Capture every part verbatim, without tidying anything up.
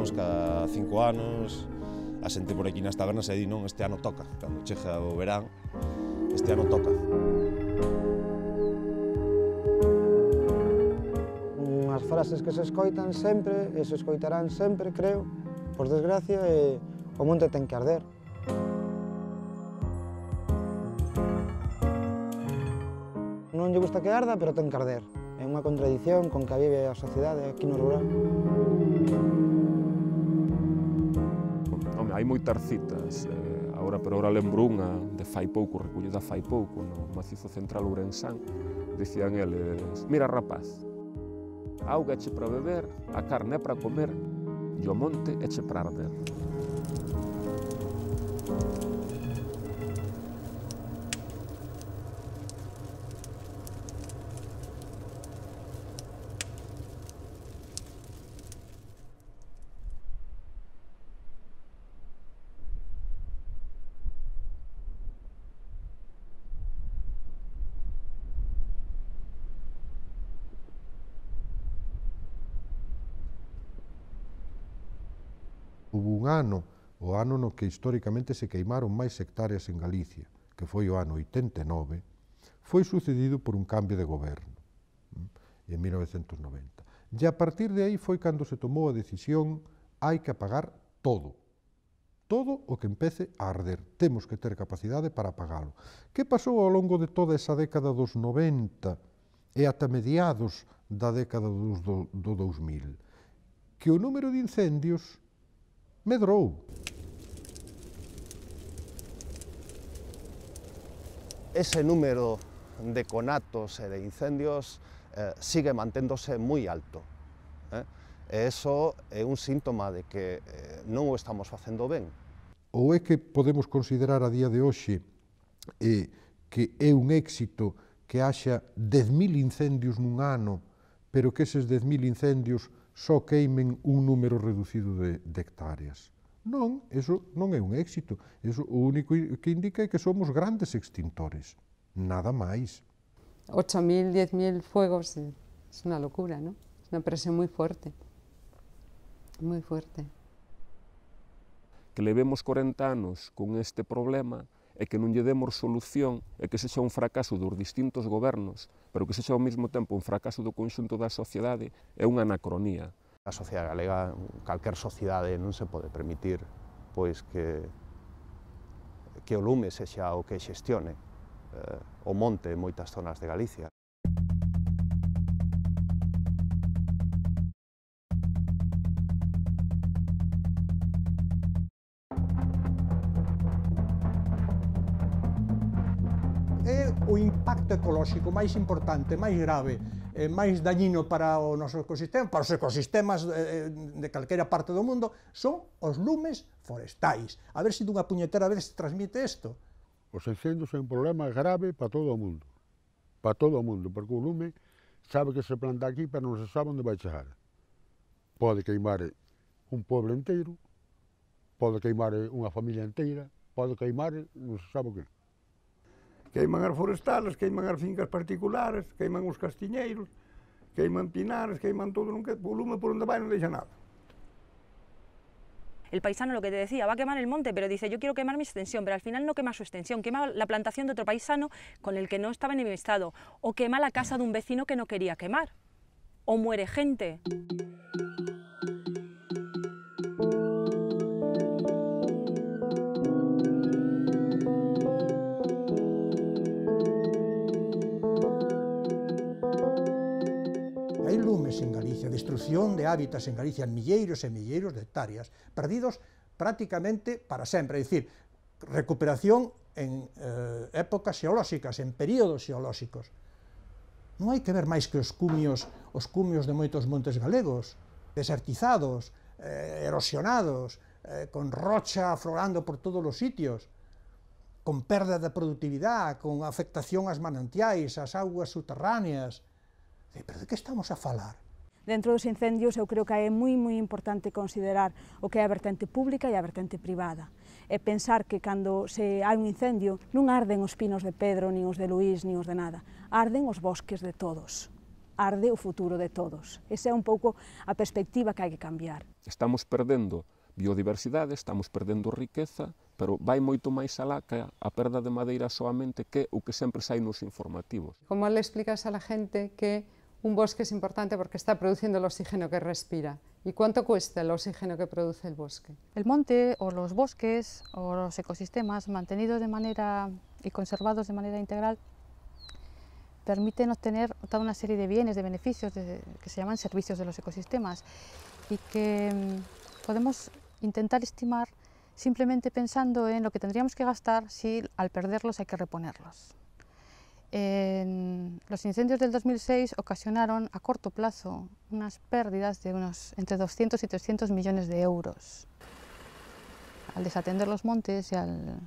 anos, cada cinco anos, a xente por aquí nas tabernas e di non, este ano toca. Cando chega o verán, este ano toca. Unhas frases que se escoitan sempre, e se escoitarán sempre, creo, por desgracia, e o monte ten que arder. Non lle gusta que arda, pero ten que arder. É unha contradición con que vive a sociedade aquí no rural. Home, hai moitas citas. Eh, ahora, pero ahora lembro unha de fai pouco, recollida fai pouco, no macizo central ourensán. Dicían eles, mira rapaz, a auga eche para beber, a carne é para comer, e o monte eche para arder. Hubo un ano, o ano no que históricamente se queimaron máis hectáreas en Galicia, que foi o ano oitenta e nove, foi sucedido por un cambio de goberno, en mil novecentos noventa. E a partir de aí foi cando se tomou a decisión, hai que apagar todo. Todo o que empece a arder. Temos que ter capacidade para apagalo. Que pasou ao longo de toda esa década dos noventa e ata mediados da década dos do, do dous mil? Que o número de incendios medrou. Ese número de conatos e de incendios eh, sigue manténdose moi alto. Eh? E iso é un síntoma de que eh, non o estamos facendo ben. Ou é que podemos considerar a día de hoxe eh, que é un éxito que haxa dez mil incendios nun ano, pero que eses dez mil incendios só queimen un número reducido de, de hectáreas. Non, eso non é un éxito. Eso o único que indica é que somos grandes extintores. Nada máis. ocho mil, diez mil fuegos es una locura, ¿no? Es una presión muy fuerte. Muy fuerte. Que levemos corenta anos con este problema e que non lle demos solución e que sexa un fracaso dos distintos gobernos, pero que sexa ao mesmo tempo un fracaso do conxunto da sociedade, é unha anacronía. A sociedade galega, calquer sociedade, non se pode permitir pois que, que o lume sexa o que xestione eh, o monte en moitas zonas de Galicia. É o impacto ecolóxico máis importante, máis grave, eh, máis dañino para o noso ecosistema, para os ecosistemas eh, de calquera parte do mundo, son os lumes forestais. A ver se dunha puñetera vez se transmite isto. Os incendios é un problema grave para todo o mundo, para todo o mundo, porque o lume sabe que se planta aquí, pero non se sabe onde vai chegar. Pode queimar un pueblo inteiro, pode queimar unha familia inteira, pode queimar non se sabe o que. Queiman as forestales, queiman as fincas particulares, queiman os castiñeiros, queiman pinares, queiman todo, non que, o lume por onde vai non deixa nada. El paisano, lo que te decía, va a quemar el monte, pero dice, yo quiero quemar mi extensión, pero al final no quema su extensión, quema la plantación de otro paisano con el que no estaba enemistado, o quema la casa de un vecino que no quería quemar, o muere gente. Hai lumes en Galicia, destrucción de hábitats en Galicia, en milleiros e milleiros de hectáreas, perdidos prácticamente para sempre, é dicir, recuperación en eh, épocas xeolóxicas, en períodos xeolóxicos. Non hai que ver máis que os cumios, os cumios de moitos montes galegos, desertizados, eh, erosionados, eh, con rocha aflorando por todos os sitios, con perda de productividade, con afectación ás manantiais, ás augas subterráneas. Pero de que estamos a falar? Dentro dos incendios eu creo que é moi moi importante considerar o que é a vertente pública e a vertente privada. E pensar que cando se hai un incendio non arden os pinos de Pedro, nin os de Luís, nin os de nada. Arden os bosques de todos. arde o futuro de todos. Esa é un pouco a perspectiva que hai que cambiar. Estamos perdendo biodiversidade, estamos perdendo riqueza, pero vai moito máis alá que a perda de madeira soamente que o que sempre sai nos informativos. ¿Cómo le explicas a la gente que un bosque es importante porque está produciendo el oxígeno que respira? ¿Y cuánto cuesta el oxígeno que produce el bosque? El monte o los bosques o los ecosistemas mantenidos de manera y conservados de manera integral permiten obtener toda una serie de bienes, de beneficios de, que se llaman servicios de los ecosistemas y que mmm, podemos intentar estimar simplemente pensando en lo que tendríamos que gastar si al perderlos hay que reponerlos. En los incendios del dos mil seis ocasionaron a corto plazo unas pérdidas de unos entre doscientos y trescientos millones de euros. Al desatender los montes y al,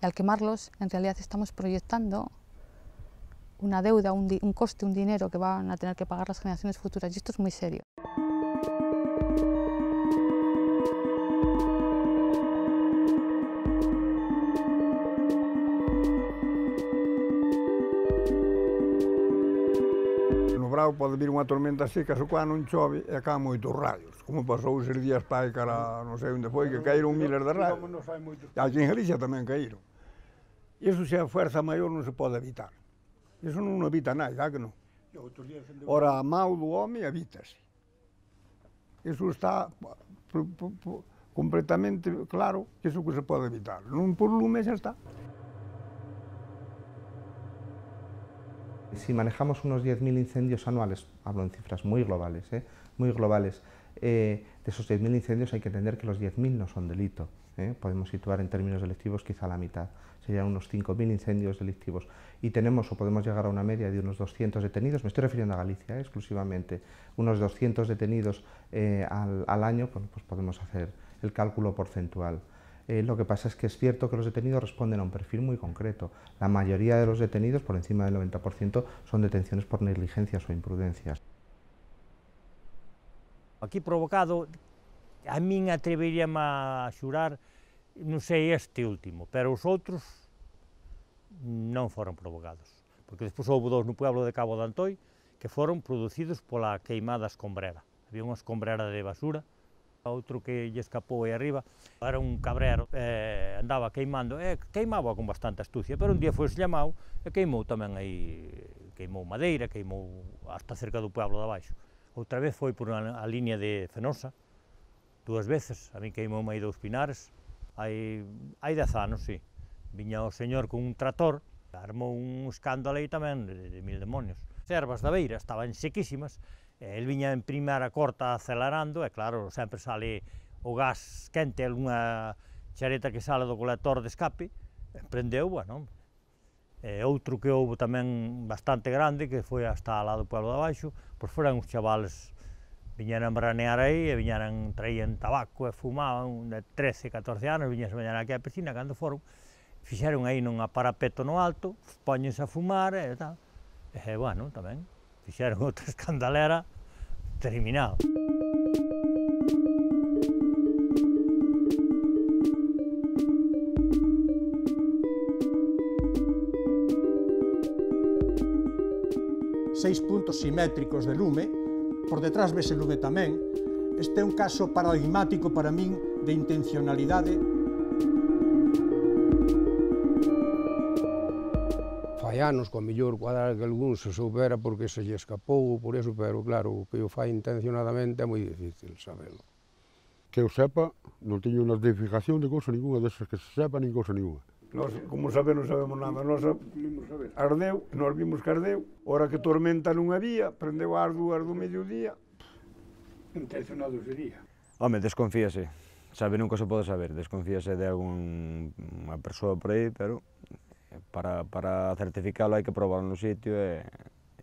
y al quemarlos, en realidad estamos proyectando una deuda, un, un coste, un dinero que van a tener que pagar las generaciones futuras, y esto es muy serio. No brao pode vir unha tormenta seca, só cando non chove e caen moitos raios, como pasou os días pai cara non sei onde foi, que caíron miles de raios. E aquí en Galicia tamén caíron. Iso se a fuerza maior non se pode evitar. Iso non evita nada, que non? Ora, a mau do home evítase. Iso está completamente claro que iso que se pode evitar. Non por lume xa está. Si manejamos unos diez mil incendios anuales, hablo en cifras muy globales, ¿eh? muy globales, eh, de esos diez mil incendios hay que entender que los diez mil no son delito. ¿eh? Podemos situar en términos delictivos quizá la mitad, serían unos cinco mil incendios delictivos. Y tenemos o podemos llegar a una media de unos doscientos detenidos, me estoy refiriendo a Galicia ¿eh? exclusivamente, unos doscientos detenidos eh, al, al año, pues, pues podemos hacer el cálculo porcentual. Eh, lo que pasa es que es cierto que los detenidos responden a un perfil muy concreto. La mayoría de los detenidos, por encima del noventa por ciento, son detenciones por negligencias o imprudencias. Aquí provocado, a min atreveríame a xurar, non sei este último, pero os outros non foron provocados. Porque despois houve dous no pueblo de Cabo de Antoi que foron producidos pola queimada escombrera. Había unha escombrera de basura, outro que lle escapou aí arriba, era un cabrero, eh, andaba queimando, eh, queimaba con bastante astucia, pero un día foi llamado e queimou tamén aí, queimou madeira, queimou hasta cerca do pueblo de abaixo. Outra vez foi por a, a línea de Fenosa, dúas veces, a mí queimou aí dous pinares, hai, hai dez anos, sí. Viña o señor con un trator, armou un escándalo aí tamén de, de mil demonios. As ervas da beira estaban sequísimas, el viña en primeira corta acelerando e claro, sempre sale o gas quente, algunha chareta que sale do colector de escape, prendeu, bueno. E outro que houve tamén bastante grande, que foi hasta lá do pueblo de abaixo, pois foran uns chavales, viñeran branear aí e viñeran, traían tabaco e fumaban, de trece, catorce anos, viñan se bañar aquí á piscina, cando foron, fixeron aí nun aparapeto no alto, poñense a fumar e tal, e bueno, tamén. Fixeron outra escandalera terminado. Seis puntos simétricos de lume, por detrás vese lume tamén. Este é un caso paradigmático para min de intencionalidade. Fai anos, con mellor cuadrar que algún se soubera porque se lle escapou por eso, pero claro, o que o fai intencionadamente é moi difícil sabelo. Que eu sepa, non teño notificación de cousa ninguna desas que se sepa, nin cousa ninguna. Nos, como saber, non sabemos nada. Nos ardeu, nos vimos que ardeu, hora que tormenta non había, prendeu as dúas do mediodía. Intencionado sería. Home, desconfíase. Sabe, nunca se pode saber. Desconfíase de algunha persoa por aí, pero para, para certificalo hai que probarlo no sitio e,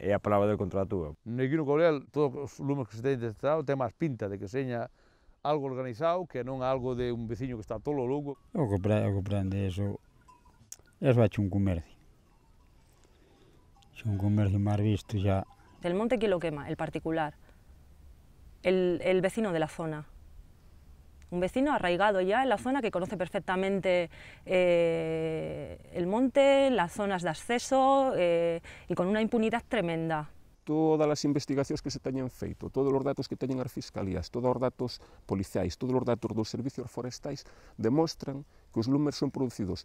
e a palabra del contra a túa. Aquí no Courel, todos os lumes que se ten detectado ten máis pinta de que seña algo organizado que non algo de un veciño que está tolo louco. O que prende eso, eso ha hecho un comercio. Es un comercio más visto ya. ¿El monte quién lo quema? El particular. El, el vecino de la zona. Un vecino arraigado ya en la zona que conoce perfectamente eh, el monte, las zonas de acceso eh, y con una impunidad tremenda. todas as investigacións que se teñen feito, todos os datos que teñen as fiscalías, todos os datos policiais, todos os datos dos servicios forestais, demostran que os lumes son producidos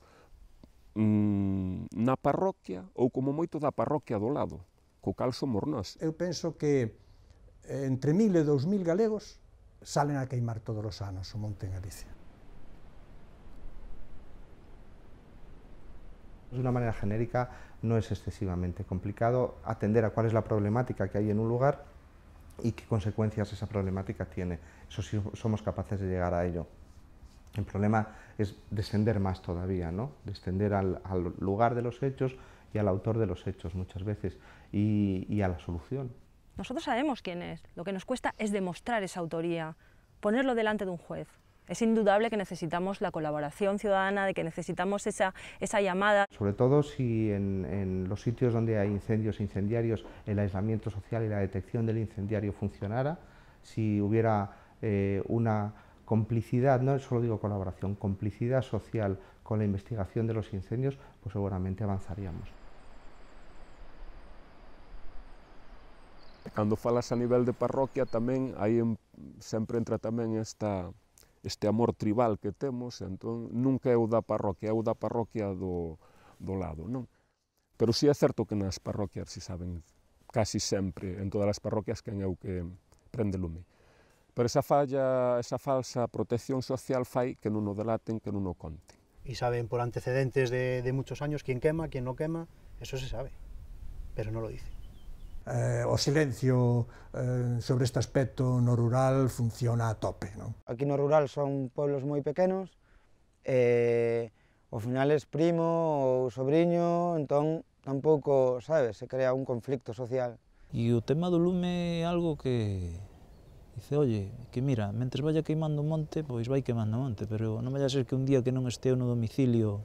mmm, na parroquia ou como moito da parroquia do lado, co cal somos nós. Eu penso que entre mil e dous mil galegos salen a queimar todos os anos o monte en Galicia. De una manera genérica, no es excesivamente complicado atender a cuál es la problemática que hay en un lugar y qué consecuencias esa problemática tiene. Eso sí somos capaces de llegar a ello. El problema es descender más todavía, ¿no? Descender al, al lugar de los hechos y al autor de los hechos muchas veces y, y a la solución. Nosotros sabemos quién es. Lo que nos cuesta es demostrar esa autoría, ponerlo delante de un juez. Es indudable que necesitamos la colaboración ciudadana, de que necesitamos esa, esa llamada. Sobre todo si en, en los sitios donde hay incendios e incendiarios el aislamiento social y la detección del incendiario funcionara, si hubiera eh, una complicidad, no solo digo colaboración, complicidad social con la investigación de los incendios, pues seguramente avanzaríamos. Cando falas a nivel de parroquia tamén aí sempre entra tamén esta este amor tribal que temos, entón nunca é o da parroquia, é o da parroquia do, do lado, non? Pero si é certo que nas parroquias se saben casi sempre, en todas as parroquias, quen é o que prende lume. Pero esa falla, esa falsa protección social fai que non o delaten, que non o conten. Y saben por antecedentes de, de muchos años quién quema, quién no quema, eso se sabe, pero no lo dice. Eh, o silencio eh, sobre este aspecto no rural funciona a tope, non? Aquí no rural son pueblos moi pequenos, e ao final es primo ou sobrinho, entón tampouco, sabes, se crea un conflicto social. E o tema do lume é algo que dice, oye, que mira, mentres vaya queimando o monte, pois vai queimando o monte, pero non vai a ser que un día que non esteo no domicilio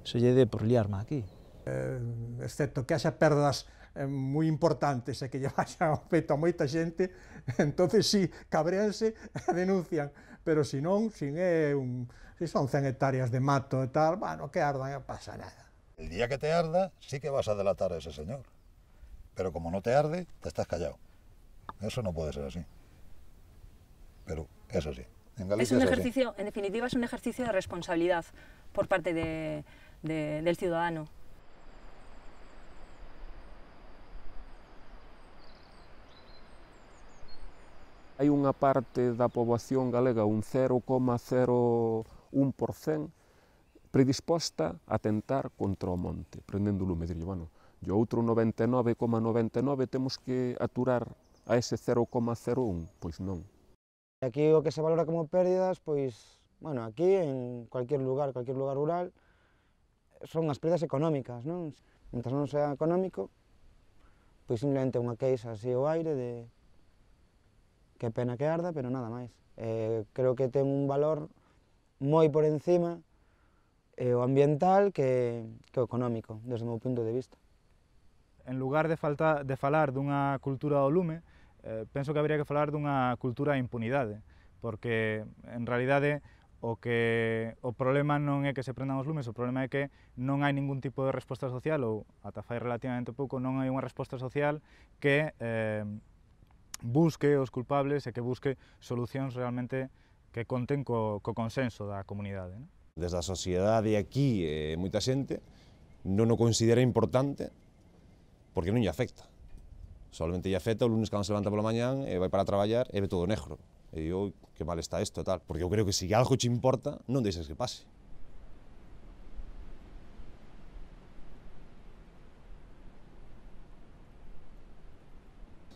se lle dé por liarme aquí. Eh, excepto que haxa perdas eh, moi importantes e que lle vayan ao peito a moita xente, entonces sí, cabreanse e denuncian, pero si non, si, é un, si son cen hectáreas de mato e tal, bueno, que ardan, non pasa nada. El día que te arda, sí que vas a delatar a ese señor, pero como no te arde, te estás callado. Eso no puede ser así, pero es así. En Galicia es un es ejercicio, así. En definitiva, es un ejercicio de responsabilidad por parte de, de, del ciudadano. Hai unha parte da poboación galega, un cero coma cero un por cento, predisposta a tentar contra o monte, prendendo lume. Dirlle, bueno, e o outro noventa e nove coma noventa e nove temos que aturar a ese cero coma cero un, pois non. Aquí o que se valora como pérdidas, pois, bueno, aquí, en cualquier lugar, cualquier lugar rural, son as pérdidas económicas, non? Mentras non sea económico, pois simplemente unha queixa así ao aire de que pena que arda, pero nada máis. Eh, creo que ten un valor moi por encima eh, o ambiental que, que o económico, desde o meu punto de vista. En lugar de, falta, de falar dunha cultura do lume, eh, penso que habría que falar dunha cultura de impunidade, porque en realidade o que o problema non é que se prendan os lumes, o problema é que non hai ningún tipo de resposta social, ou ata fai relativamente pouco non hai unha resposta social que eh, busque os culpables e que busque solucións realmente que conten co, co consenso da comunidade, non? Desde a sociedade aquí, eh, moita xente non o considera importante porque non lle afecta. Solamente lle afecta o lunes cando se levanta pola mañán e vai para traballar e ve todo negro. E digo, que mal está isto e tal. Porque eu creo que se algo che importa, non deixes que pase.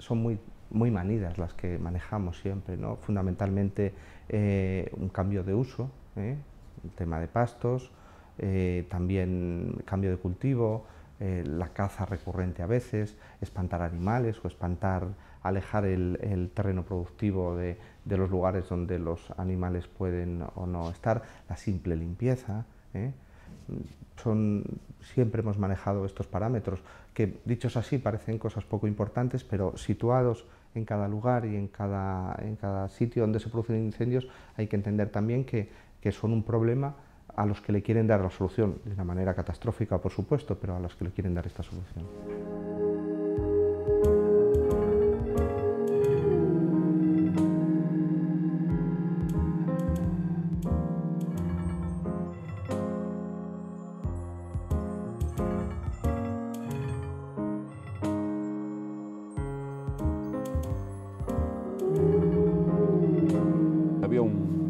Son muy muy manidas las que manejamos siempre, ¿no? Fundamentalmente eh, un cambio de uso, ¿eh? El tema de pastos, eh, también cambio de cultivo, eh, la caza recurrente a veces, espantar animales o espantar, alejar el, el terreno productivo de, de los lugares donde los animales pueden o no estar, la simple limpieza, ¿eh? Son, siempre hemos manejado estos parámetros que, dichos así, parecen cosas poco importantes, pero situados en cada lugar y en cada, en cada sitio donde se producen incendios hay que entender también que, que son un problema a los que le quieren dar la solución, de una manera catastrófica, por supuesto, pero a los que le quieren dar esta solución.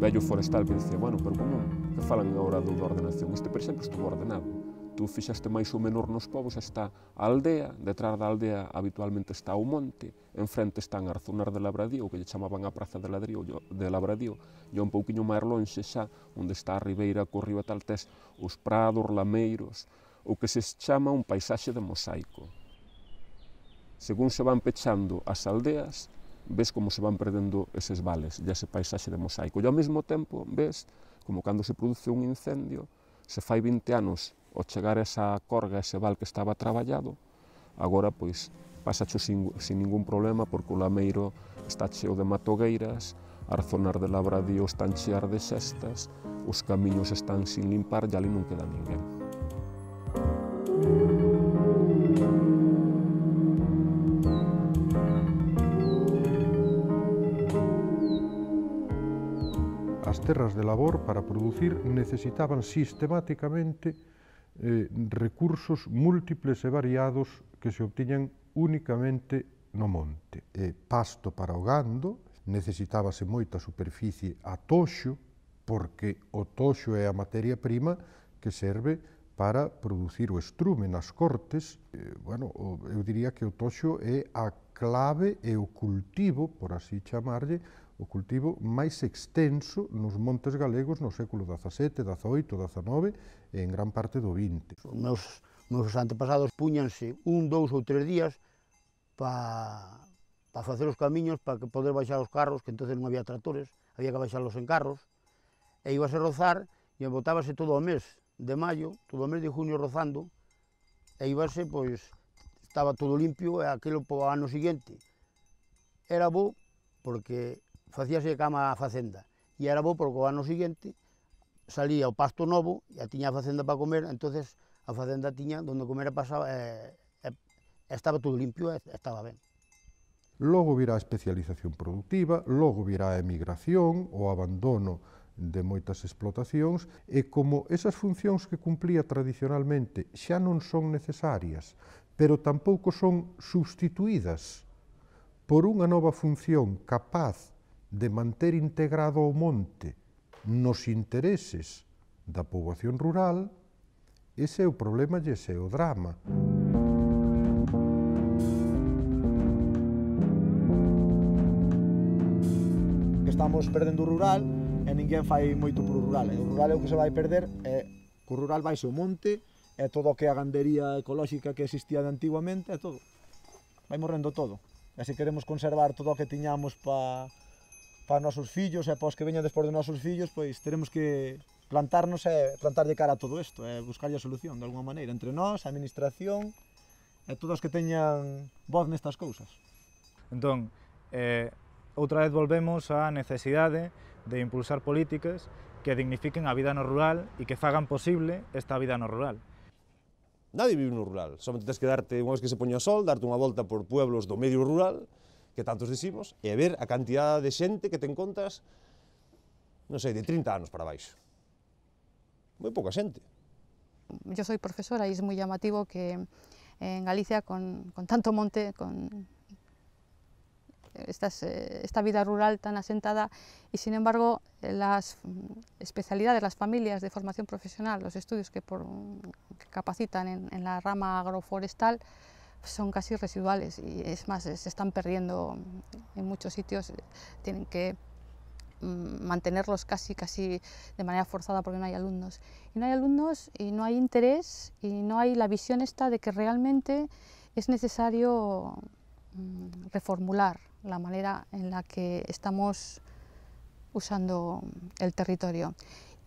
vello forestal que dicía, bueno, pero como que falan agora do da ordenación? Este, por exemplo, estuvo ordenado. Tú fixaste máis ou menor nos povos, está a aldea, detrás da aldea habitualmente está o monte, enfrente están Arzonar de Labradío, o que lle chamaban a Praza de Labradío, de Labradío, e un pouquiño máis lonxe xa, onde está a ribeira co río e tal, tes os prados, lameiros, o que se chama un paisaxe de mosaico. Según se van pechando as aldeas, ves como se van perdendo eses vales e ese paisaxe de mosaico. E ao mesmo tempo ves como cando se produce un incendio, se fai vinte anos ao chegar esa corga, ese val que estaba traballado, agora pois pasacho sin, sin ningún problema porque o lameiro está cheo de matogueiras, Arzonar de Labradío están chear de xestas, os camiños están sin limpar e ali non queda ninguén. As terras de labor para producir necesitaban sistemáticamente eh, recursos múltiples e variados que se obtiñan únicamente no monte. E pasto para o gando, necesitábase moita superficie a toxo, porque o toxo é a materia prima que serve para producir o estrume nas cortes. Eh, bueno, eu diría que o toxo é a clave e o cultivo, por así chamarlle, o cultivo máis extenso nos montes galegos no século dezasete, dezaoito, dezenove e en gran parte do vinte. Os meus, meus antepasados puñanse un, dous ou tres días para pa facer os camiños, para poder baixar os carros, que entonces non había tractores, había que baixarlos en carros, e ibase a rozar e botábase todo o mes de maio, todo o mes de junio rozando, e ibase, pois, estaba todo limpio e aquilo po ano seguinte. Era bo porque facíase cama a facenda, e era bo porque o ano seguinte salía o pasto novo, e tiña a facenda para comer, entonces a facenda tiña donde comer e pasaba, e, e, estaba todo limpio e estaba ben. Logo virá a especialización productiva, logo virá a emigración, o abandono de moitas explotacións, e como esas funcións que cumplía tradicionalmente xa non son necesarias, pero tampouco son substituídas por unha nova función capaz de manter integrado o monte nos intereses da poboación rural, ese é o problema e ese é o drama. Estamos perdendo o rural e ninguén fai moito pro rural, e o rural é o que se vai perder, e co rural vaise o monte, e todo o que a gandería ecolóxica que existía de antiguamente, e todo. Vai morrendo todo. E se queremos conservar todo o que tiñamos para para nosos fillos e para os que veñan despois de nosos fillos, pois teremos que plantarnos e plantar de cara a todo isto, e buscar a solución de alguma maneira, entre nós, a administración e todos os que teñan voz nestas cousas. Entón, eh, outra vez volvemos á necesidade de impulsar políticas que dignifiquen a vida no rural e que fagan posible esta vida no rural. Nadie vive no rural, somente tens que darte, unha vez que se poña o sol, darte unha volta por pueblos do medio rural, que tantos dicimos, e a ver a cantidad de xente que te encontras, non sei, de trinta anos para baixo. Moi pouca xente. Yo soy profesora y es muy llamativo que en Galicia, con, con tanto monte, con estas, esta vida rural tan asentada, y sin embargo las especialidades, las familias de formación profesional, los estudios que, por, que capacitan en, en la rama agroforestal, son casi residuales, y es más, se están perdiendo en muchos sitios, tienen que mantenerlos casi, casi de manera forzada porque no hay alumnos. Y no hay alumnos y no hay interés y no hay la visión esta de que realmente es necesario reformular la manera en la que estamos usando el territorio.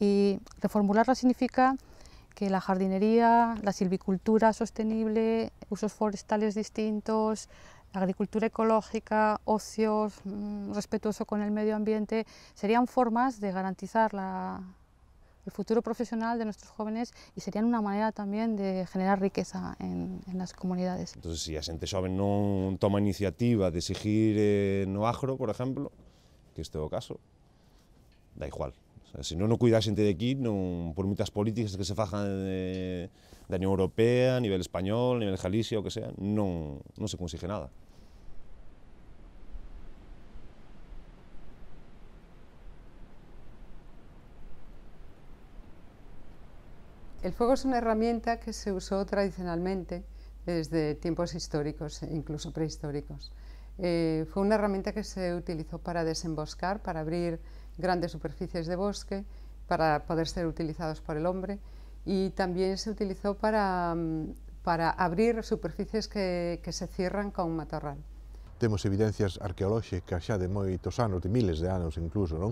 Y reformularla significa que la jardinería, la silvicultura sostenible, usos forestales distintos, agricultura ecológica, ocio mmm, respetuoso con el medio ambiente, serían formas de garantizar la, el futuro profesional de nuestros jóvenes y serían una manera también de generar riqueza en, en las comunidades. Entonces, si a xente xoven non toma iniciativa de seguir eh, no agro, por exemplo, que este é o caso, da igual. O sea, se non o cuida a xente de aquí, non, por moitas políticas que se fajan de, da Unión Europea, a nivel español, a nivel Galicia, o que sea, non, non se consigue nada. El fuego es una herramienta que se usó tradicionalmente desde tiempos históricos, incluso prehistóricos. Eh, fue una herramienta que se utilizó para desemboscar, para abrir grandes superficies de bosque, para poder ser utilizados por el hombre, y también se utilizó para, para abrir superficies que, que se cierran con matorral. Temos evidencias arqueolóxicas xa de moitos anos, de miles de anos incluso, non?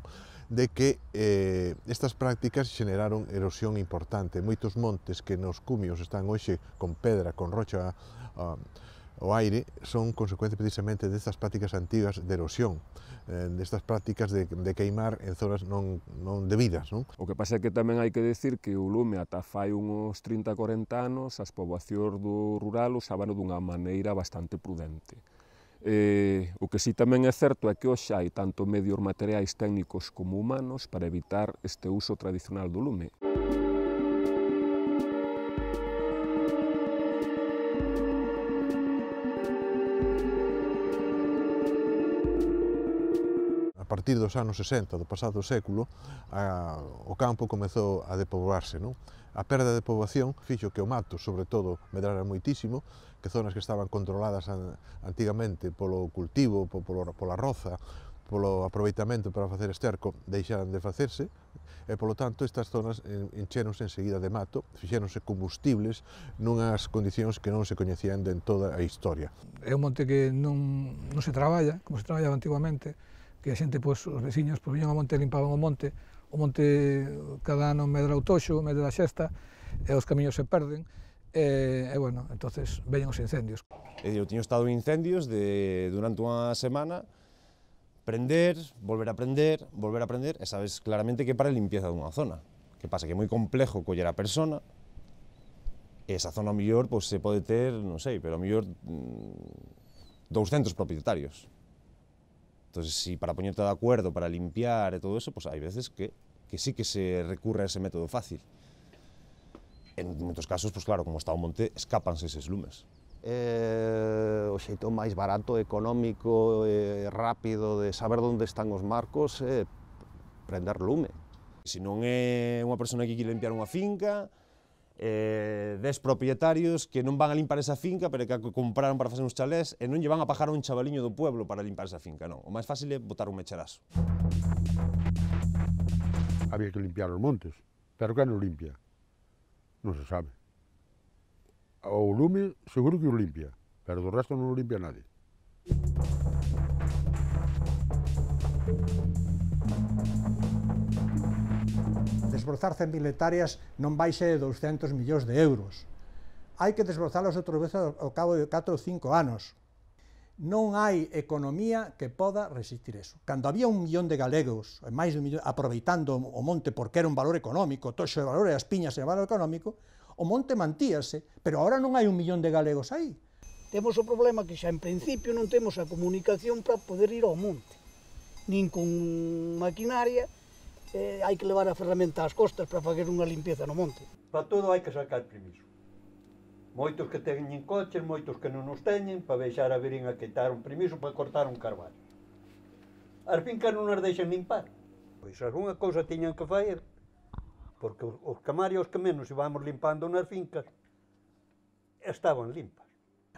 De que eh, estas prácticas xeneraron erosión importante. Moitos montes que nos cumios están hoxe con pedra, con rocha uh, ao aire, son consecuencia precisamente destas prácticas antigas de erosión, eh, destas prácticas de, de queimar en zonas non, non debidas. Non? O que pasa é que tamén hai que decir que o lume ata fai uns trinta a corenta anos as poboacións do rural usábano dunha maneira bastante prudente. Eh, o que sí tamén é certo é que hoxe hai tanto medios materiais técnicos como humanos para evitar este uso tradicional do lume. A partir dos anos sesenta do pasado século, a, o campo comezou a depoboarse. Non? A perda de poboación fixo que o mato, sobre todo, medrara moitísimo, que zonas que estaban controladas antigamente polo cultivo, polo, pola roza, polo aproveitamento para facer esterco, deixaran de facerse, e, polo tanto, estas zonas encheronse enseguida de mato, fixéronse combustibles nunhas condicións que non se coñecían en toda a historia. É un monte que non, non se traballa, como se traballaba antiguamente, que a xente, pois, os veciños, pois, viñan ao monte e limpaban o monte, o monte cada ano medra o toxo, medra a xesta, e os camiños se perden, e, e bueno, entonces veñen os incendios. Eu tiño estado en incendios de, durante unha semana, prender, volver a prender, volver a prender, e sabes claramente que para a limpieza dunha zona. Que pasa que é moi complejo coller a persona, e esa zona, ao mellor, pois, se pode ter, non sei, pero ao mellor douscentos propietarios. Entón, si para poñerte de acuerdo, para limpiar e todo eso, pois hai veces que, que sí que se recurre a ese método fácil. En moitos casos, pois claro, como está o monte, escápanse eses lumes. Eh, o xeito máis barato, económico e rápido de saber onde están os marcos é prender lume. Se non é unha persona que quere limpiar unha finca, eh, dez propietarios que non van a limpar esa finca, pero que compraron para facer uns chalés e non lle van a pagar a un chavaliño do pueblo para limpar esa finca, non. O máis fácil é botar un mecharazo. Había que limpiar os montes, pero que non limpia? Non se sabe. O lume seguro que o limpia, pero do resto non o limpia nadie. Desbrozar cen mil hectáreas non baixe de douscentos millóns de euros. Hai que desbrozalos outra vez ao cabo de catro ou cinco anos. Non hai economía que poda resistir eso. Cando había un millón de galegos, máis de un millón, aproveitando o monte porque era un valor económico, toxo de valor e as piñas era valor económico, o monte mantíase, pero agora non hai un millón de galegos aí. Temos o problema que xa en principio non temos a comunicación para poder ir ao monte, nin con maquinaria, eh, hai que levar a ferramenta ás costas para fazer unha limpieza no monte. Para todo hai que sacar permiso. Moitos que teñen coches, moitos que non os teñen, para deixar a virin a quitar un permiso para cortar un carvalho. As fincas non as deixan limpar. Pois algunha cousa tiñan que fazer, porque os camarios que menos íbamos limpando nas fincas estaban limpas.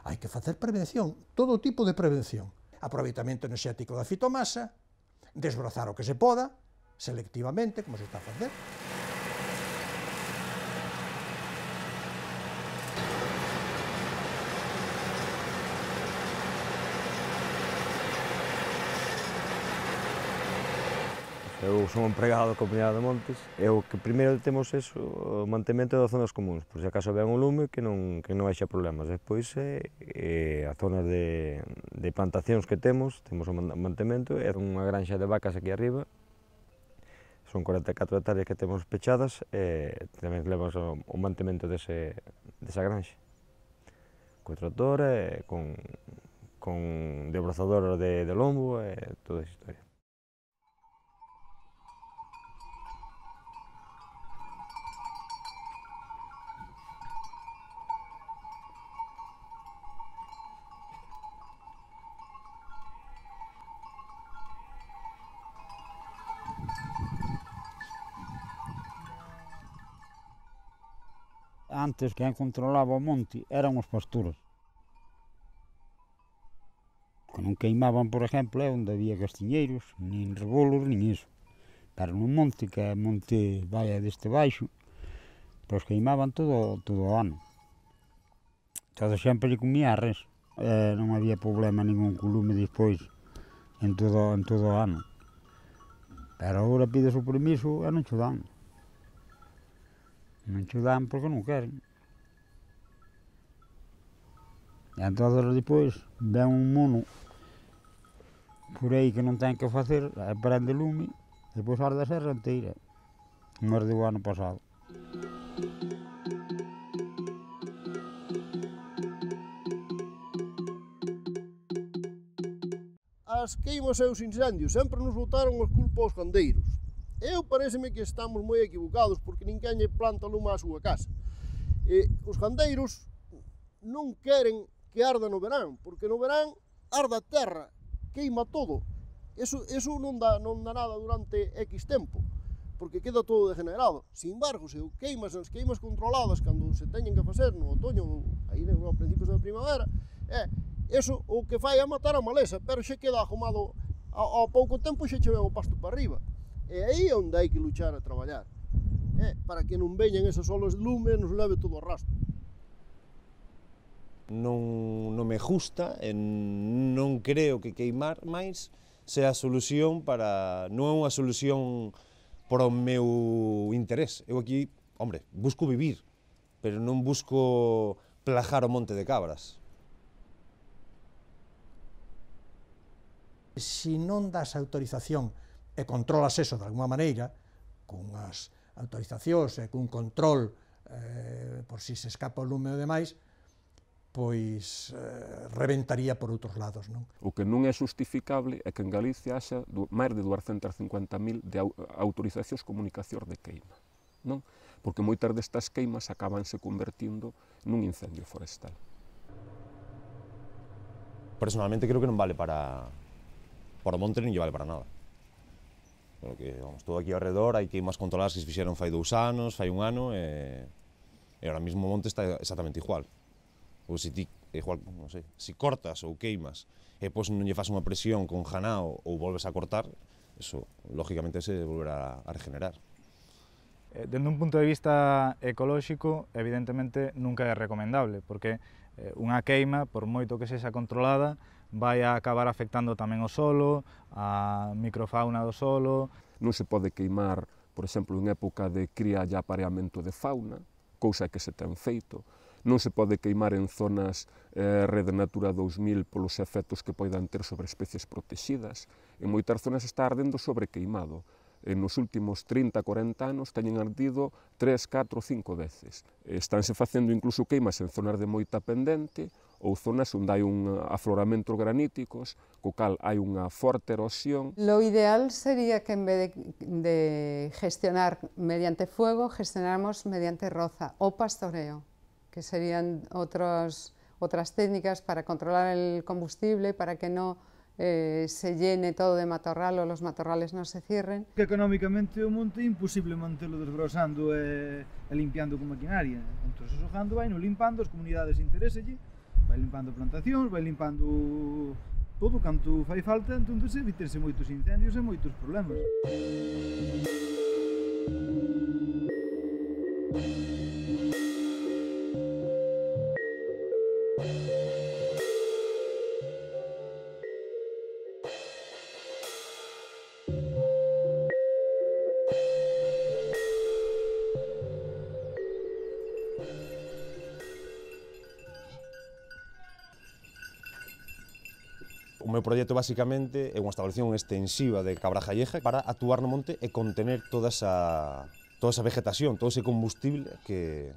Hai que facer prevención, todo tipo de prevención. Aproveitamento enerxético da fitomasa, desbrozar o que se poda, selectivamente, como se está a facer. Eu son empregado da Comunidade de Montes e o que primeiro temos é o mantemento das zonas comuns, por se acaso ven un lume que non, que non haxa problemas. Despois é, é a zona de, de plantacións que temos, temos o mantemento, é unha granxa de vacas aquí arriba, son cuarenta e catro hectáreas que temos pechadas e tamén levamos o, o mantemento dese, desa granxa. Co trator e con, con debrozador de, de lombo e toda esa historia. Antes, quen controlaba o monte eran os pastores. Que non queimaban, por exemplo, é onde había castiñeiros, nin rebolos, nin iso. Pero no monte, que é monte vai deste baixo, pois queimaban todo, todo o ano. Todo sempre lle comía a res. Eh, non había problema ningún co lume despois en todo, en todo o ano. Pero agora pides o permiso e non cho dan. Non cho dan porque non queren. E entón, depois, ven un mono por aí que non ten que facer, prende lume, depois arde a serra inteira. Non ardeu o ano pasado. As queimas e os incendios sempre nos botaron as culpa aos gandeiros. Eu pareceme que estamos moi equivocados porque ninguén lle planta lume á súa casa. E os gandeiros non queren que arda no verán, porque no verán arda a terra, queima todo. Eso, eso non, dá, non dá nada durante X tempo, porque queda todo degenerado. Sin embargo, se queimas as queimas controladas cando se teñen que facer no otoño, aí no principios da primavera, é, eso o que fai é matar a maleza, pero xa queda ahumado, ao, ao pouco tempo xa che ven o pasto para arriba. E aí é onde hai que luchar a traballar, é, para que non veñan esas olas de lume e nos leve todo o rastro. Non, non me gusta e non creo que queimar máis sea a solución para... non é unha solución para o meu interés. Eu aquí, hombre, busco vivir, pero non busco plajar o monte de cabras. Si non das autorización e controlas eso de alguma maneira, cunhas autorizacións e cun control eh, por si se escapa o lume e demais, pois eh, reventaría por outros lados, non? O que non é justificable é que en Galicia haxa máis de duascentas e cincuenta mil de autorizacións comunicacións de queima, non? Porque moitas destas queimas acabanse convertindo nun incendio forestal. Personalmente creo que non vale para... para o monte non lle vale para nada. Porque, vamos, todo aquí ao redor hai queimas controladas que se fixeron fai dous anos, fai un ano, e, e ahora mismo o monte está exactamente igual. Ou se ti, igual, non sei, se cortas ou queimas e depois non lle faz unha presión con janao ou volves a cortar, eso, lógicamente, se volverá a regenerar. Dende un punto de vista ecolóxico, evidentemente, nunca é recomendable, porque unha queima, por moito que sexa controlada, vai a acabar afectando tamén o solo, a microfauna do solo. Non se pode queimar, por exemplo, en época de cría e apareamento de fauna, cousa que se ten feito. Non se pode queimar en zonas eh, Rede Natura dous mil polos efectos que poidan ter sobre especies protegidas. En moitas zonas está ardendo sobrequeimado. En nos últimos trinta a corenta anos teñen ardido tres, catro, cinco veces. Estánse facendo incluso queimas en zonas de moita pendente ou zonas onde hai un afloramentos graníticos, co cal hai unha forte erosión. Lo ideal sería que en vez de, de gestionar mediante fuego, gestionáramos mediante roza o pastoreo, que serían otros, otras técnicas para controlar el combustible, para que no eh, se llene todo de matorral o los matorrales no se cierren. Que económicamente o monte é imposible mantelo desbrosando e, e limpiando con maquinaria. Entón, o xogando vai no limpando, as comunidades interéselle, vai limpando plantacións, vai limpando todo canto fai falta, entón evitense moitos incendios e moitos problemas. O meu proxecto, basicamente, é unha establección extensiva de Cabrajalleja para actuar no monte e contener toda esa, toda esa vegetación, todo ese combustible que,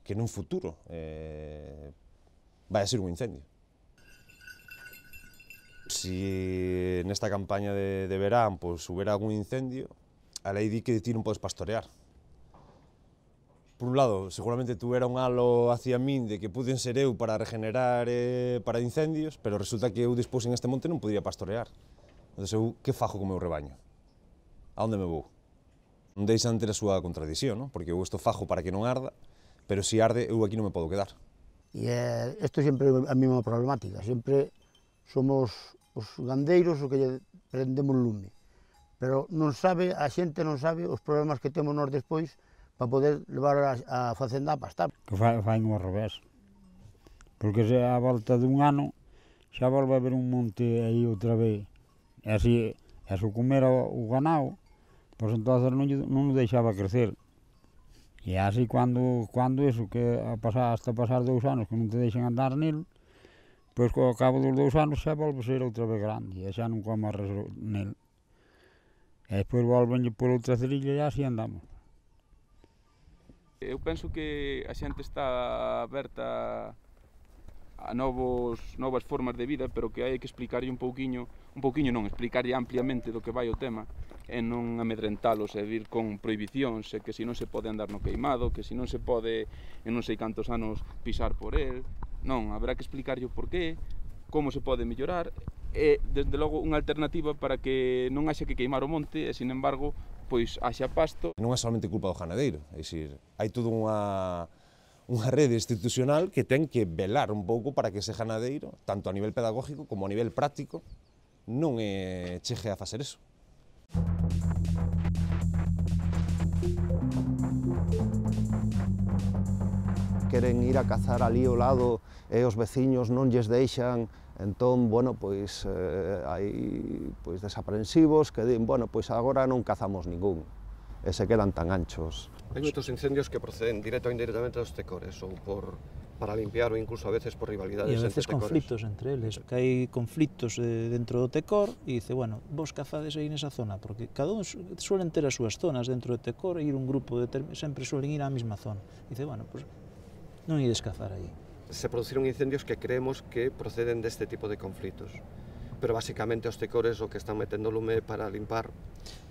que nun futuro eh, vai a ser un incendio. Si nesta campaña de, de verán pues, hubiera algún incendio, a lei di que ti non podes pastorear. Por un lado, seguramente tuviera un halo hacia min de que puden ser eu para regenerar eh, para incendios, pero resulta que eu despois en este monte non podía pastorear. Entón, eu que fajo co meu rebaño? A onde me vou? Non deixan ter a súa contradición, non? Porque eu isto fajo para que non arda, pero si arde, eu aquí non me podo quedar. E eh, isto sempre é a mesma problemática, sempre somos os gandeiros os que lle prendemos lume, pero non sabe, a xente non sabe os problemas que temos nós despois para poder levar a, a facenda a pastar. Que fai, fai ao revés, porque se a volta dun ano xa volve a haber un monte aí outra vez, e así, e se comer o ganado, pois entonces non, non o deixaba crecer. E así cando, cando eso, que a pasar, hasta pasar dous anos que non te deixen andar nel, pois ao cabo dos dous anos xa volve a ser outra vez grande, e xa non come nel. E depois volvenlle por outra cerilla e así andamos. Eu penso que a xente está aberta a novos, novas formas de vida, pero que hai que explicarlle un pouquiño, un pouquiño non, explicarlle ampliamente do que vai o tema, e non amedrentalos e vir con prohibicións, e que se non se pode andar no queimado, que se non se pode en non sei cantos anos pisar por el. Non, haberá que explicarlle o porqué, como se pode mellorar, e, desde logo, unha alternativa para que non haxa que queimar o monte, e, sin embargo, pois haxa pasto. Non é solamente culpa do ganadeiro, é dicir, hai toda unha, unha rede institucional que ten que velar un pouco para que ese ganadeiro, tanto a nivel pedagógico como a nivel práctico, non é, chegue a facer eso. Queren ir a cazar ali ao lado e os veciños non lles deixan, entón, bueno, pois eh, hai pois, desaprensivos que din, bueno, pois agora non cazamos ningún, e se quedan tan anchos. Hai moitos incendios que proceden directo ou indirectamente dos tecores, ou por para limpiar ou incluso a veces por rivalidades entre tecores. E a veces conflitos entre eles, que hai conflitos eh, dentro do tecor e dice, bueno, vos cazades aí nesa zona, porque cada un suelen ter as súas zonas dentro do tecor e ir un grupo de sempre suelen ir á mesma zona. Dice, bueno, pues non ides cazar aí. Se produciron incendios que creemos que proceden deste tipo de conflitos, pero basicamente os tecores o que están metendo lume para limpar,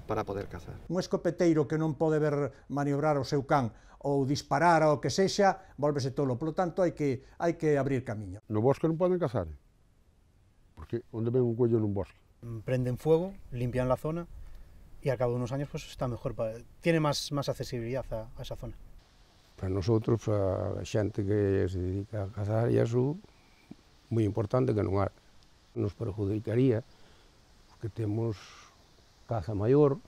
para poder cazar. Un escopeteiro que non pode ver maniobrar o seu can ou disparar ao que sexa, volvese tolo. Polo tanto, hai que, hai que abrir camiño. No bosque non poden cazar, porque onde ven un cuello nun bosque. Prenden fuego, limpian la zona y al cabo de unos años pues está mejor, para, tiene más, más accesibilidad a, a esa zona. Para nosotros, a xente que se dedica a cazar, e iso moi importante que non há. Nos perjudicaría, porque temos caza maior,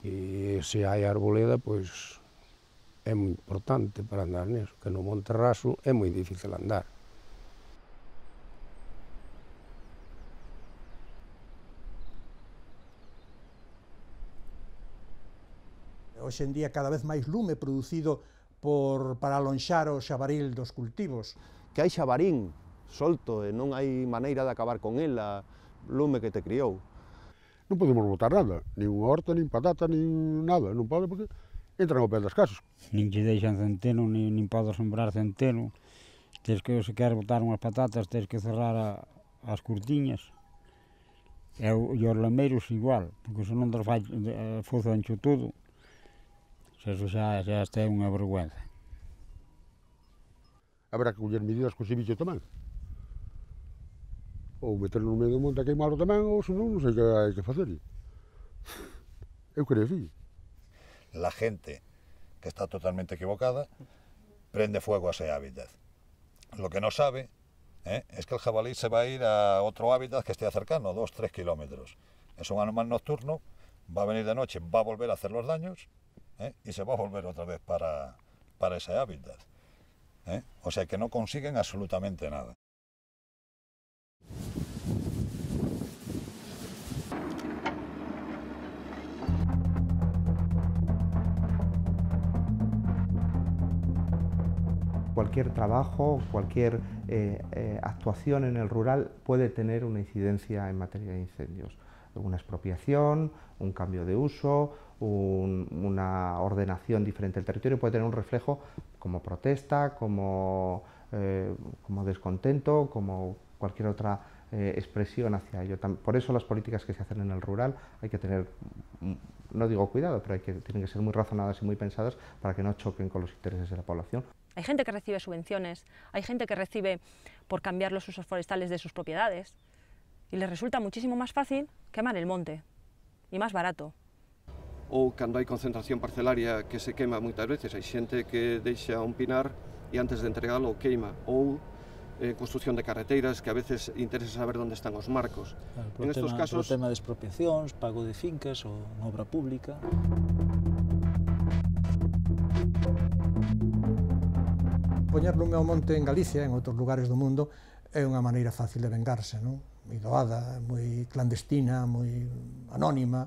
que se hai arboleda, pois é moi importante para andar neso, que no monte raso é moi difícil andar. Hoxe en día cada vez máis lume producido por, para alonxar o xabaril dos cultivos. Que hai xabarín solto e non hai maneira de acabar con el, a lume que te criou. Non podemos botar nada, nin unha horta, nin patata, nin nada, non pode porque entran ao pé das casas. Nin che deixan centeno, nin, nin podes sembrar centeno. Tens que, se queres botar unhas patatas, tens que cerrar a, as curtiñas. E, o, e os lameiros igual, porque se non te fai fozo ancho todo. Eso xa, xa está unha vergüenza. Habrá que coller medidas con ese bicho tamén. Ou meterlo no medio do monte a queimarlo tamén, ou senón non sei que hai que facer. Eu creo así. La gente, que está totalmente equivocada, prende fuego a ese hábitat. Lo que no sabe ¿eh? es que el jabalí se va a ir a otro hábitat que esté cercano, dos, tres kilómetros. Es un animal nocturno, va a venir de noche, va a volver a hacer los daños, ¿eh? y se va a volver otra vez para, para ese hábitat. ¿eh? O sea que no consiguen absolutamente nada. Cualquier trabajo, cualquier eh, eh, actuación en el rural puede tener una incidencia en materia de incendios. Una expropiación, un cambio de uso, un, una ordenación diferente del territorio puede tener un reflejo como protesta, como, eh, como descontento, como cualquier otra eh, expresión hacia ello. Por eso las políticas que se hacen en el rural hay que tener, no digo cuidado, pero hay que, tienen que ser muy razonadas y muy pensadas para que no choquen con los intereses de la población. Hay gente que recibe subvenciones, hay gente que recibe por cambiar los usos forestales de sus propiedades y les resulta muchísimo más fácil quemar el monte y más barato. ou cando hai concentración parcelaria que se quema moitas veces, hai xente que deixa un pinar e antes de entregalo queima, ou eh, construcción de carreteiras que a veces interesa saber onde están os marcos. Claro, en estos tema, casos... O tema de expropiacións, pago de fincas ou obra pública. Poñer lume ao monte en Galicia, en outros lugares do mundo, é unha maneira fácil de vengarse, non? Moi doada, moi clandestina, moi anónima.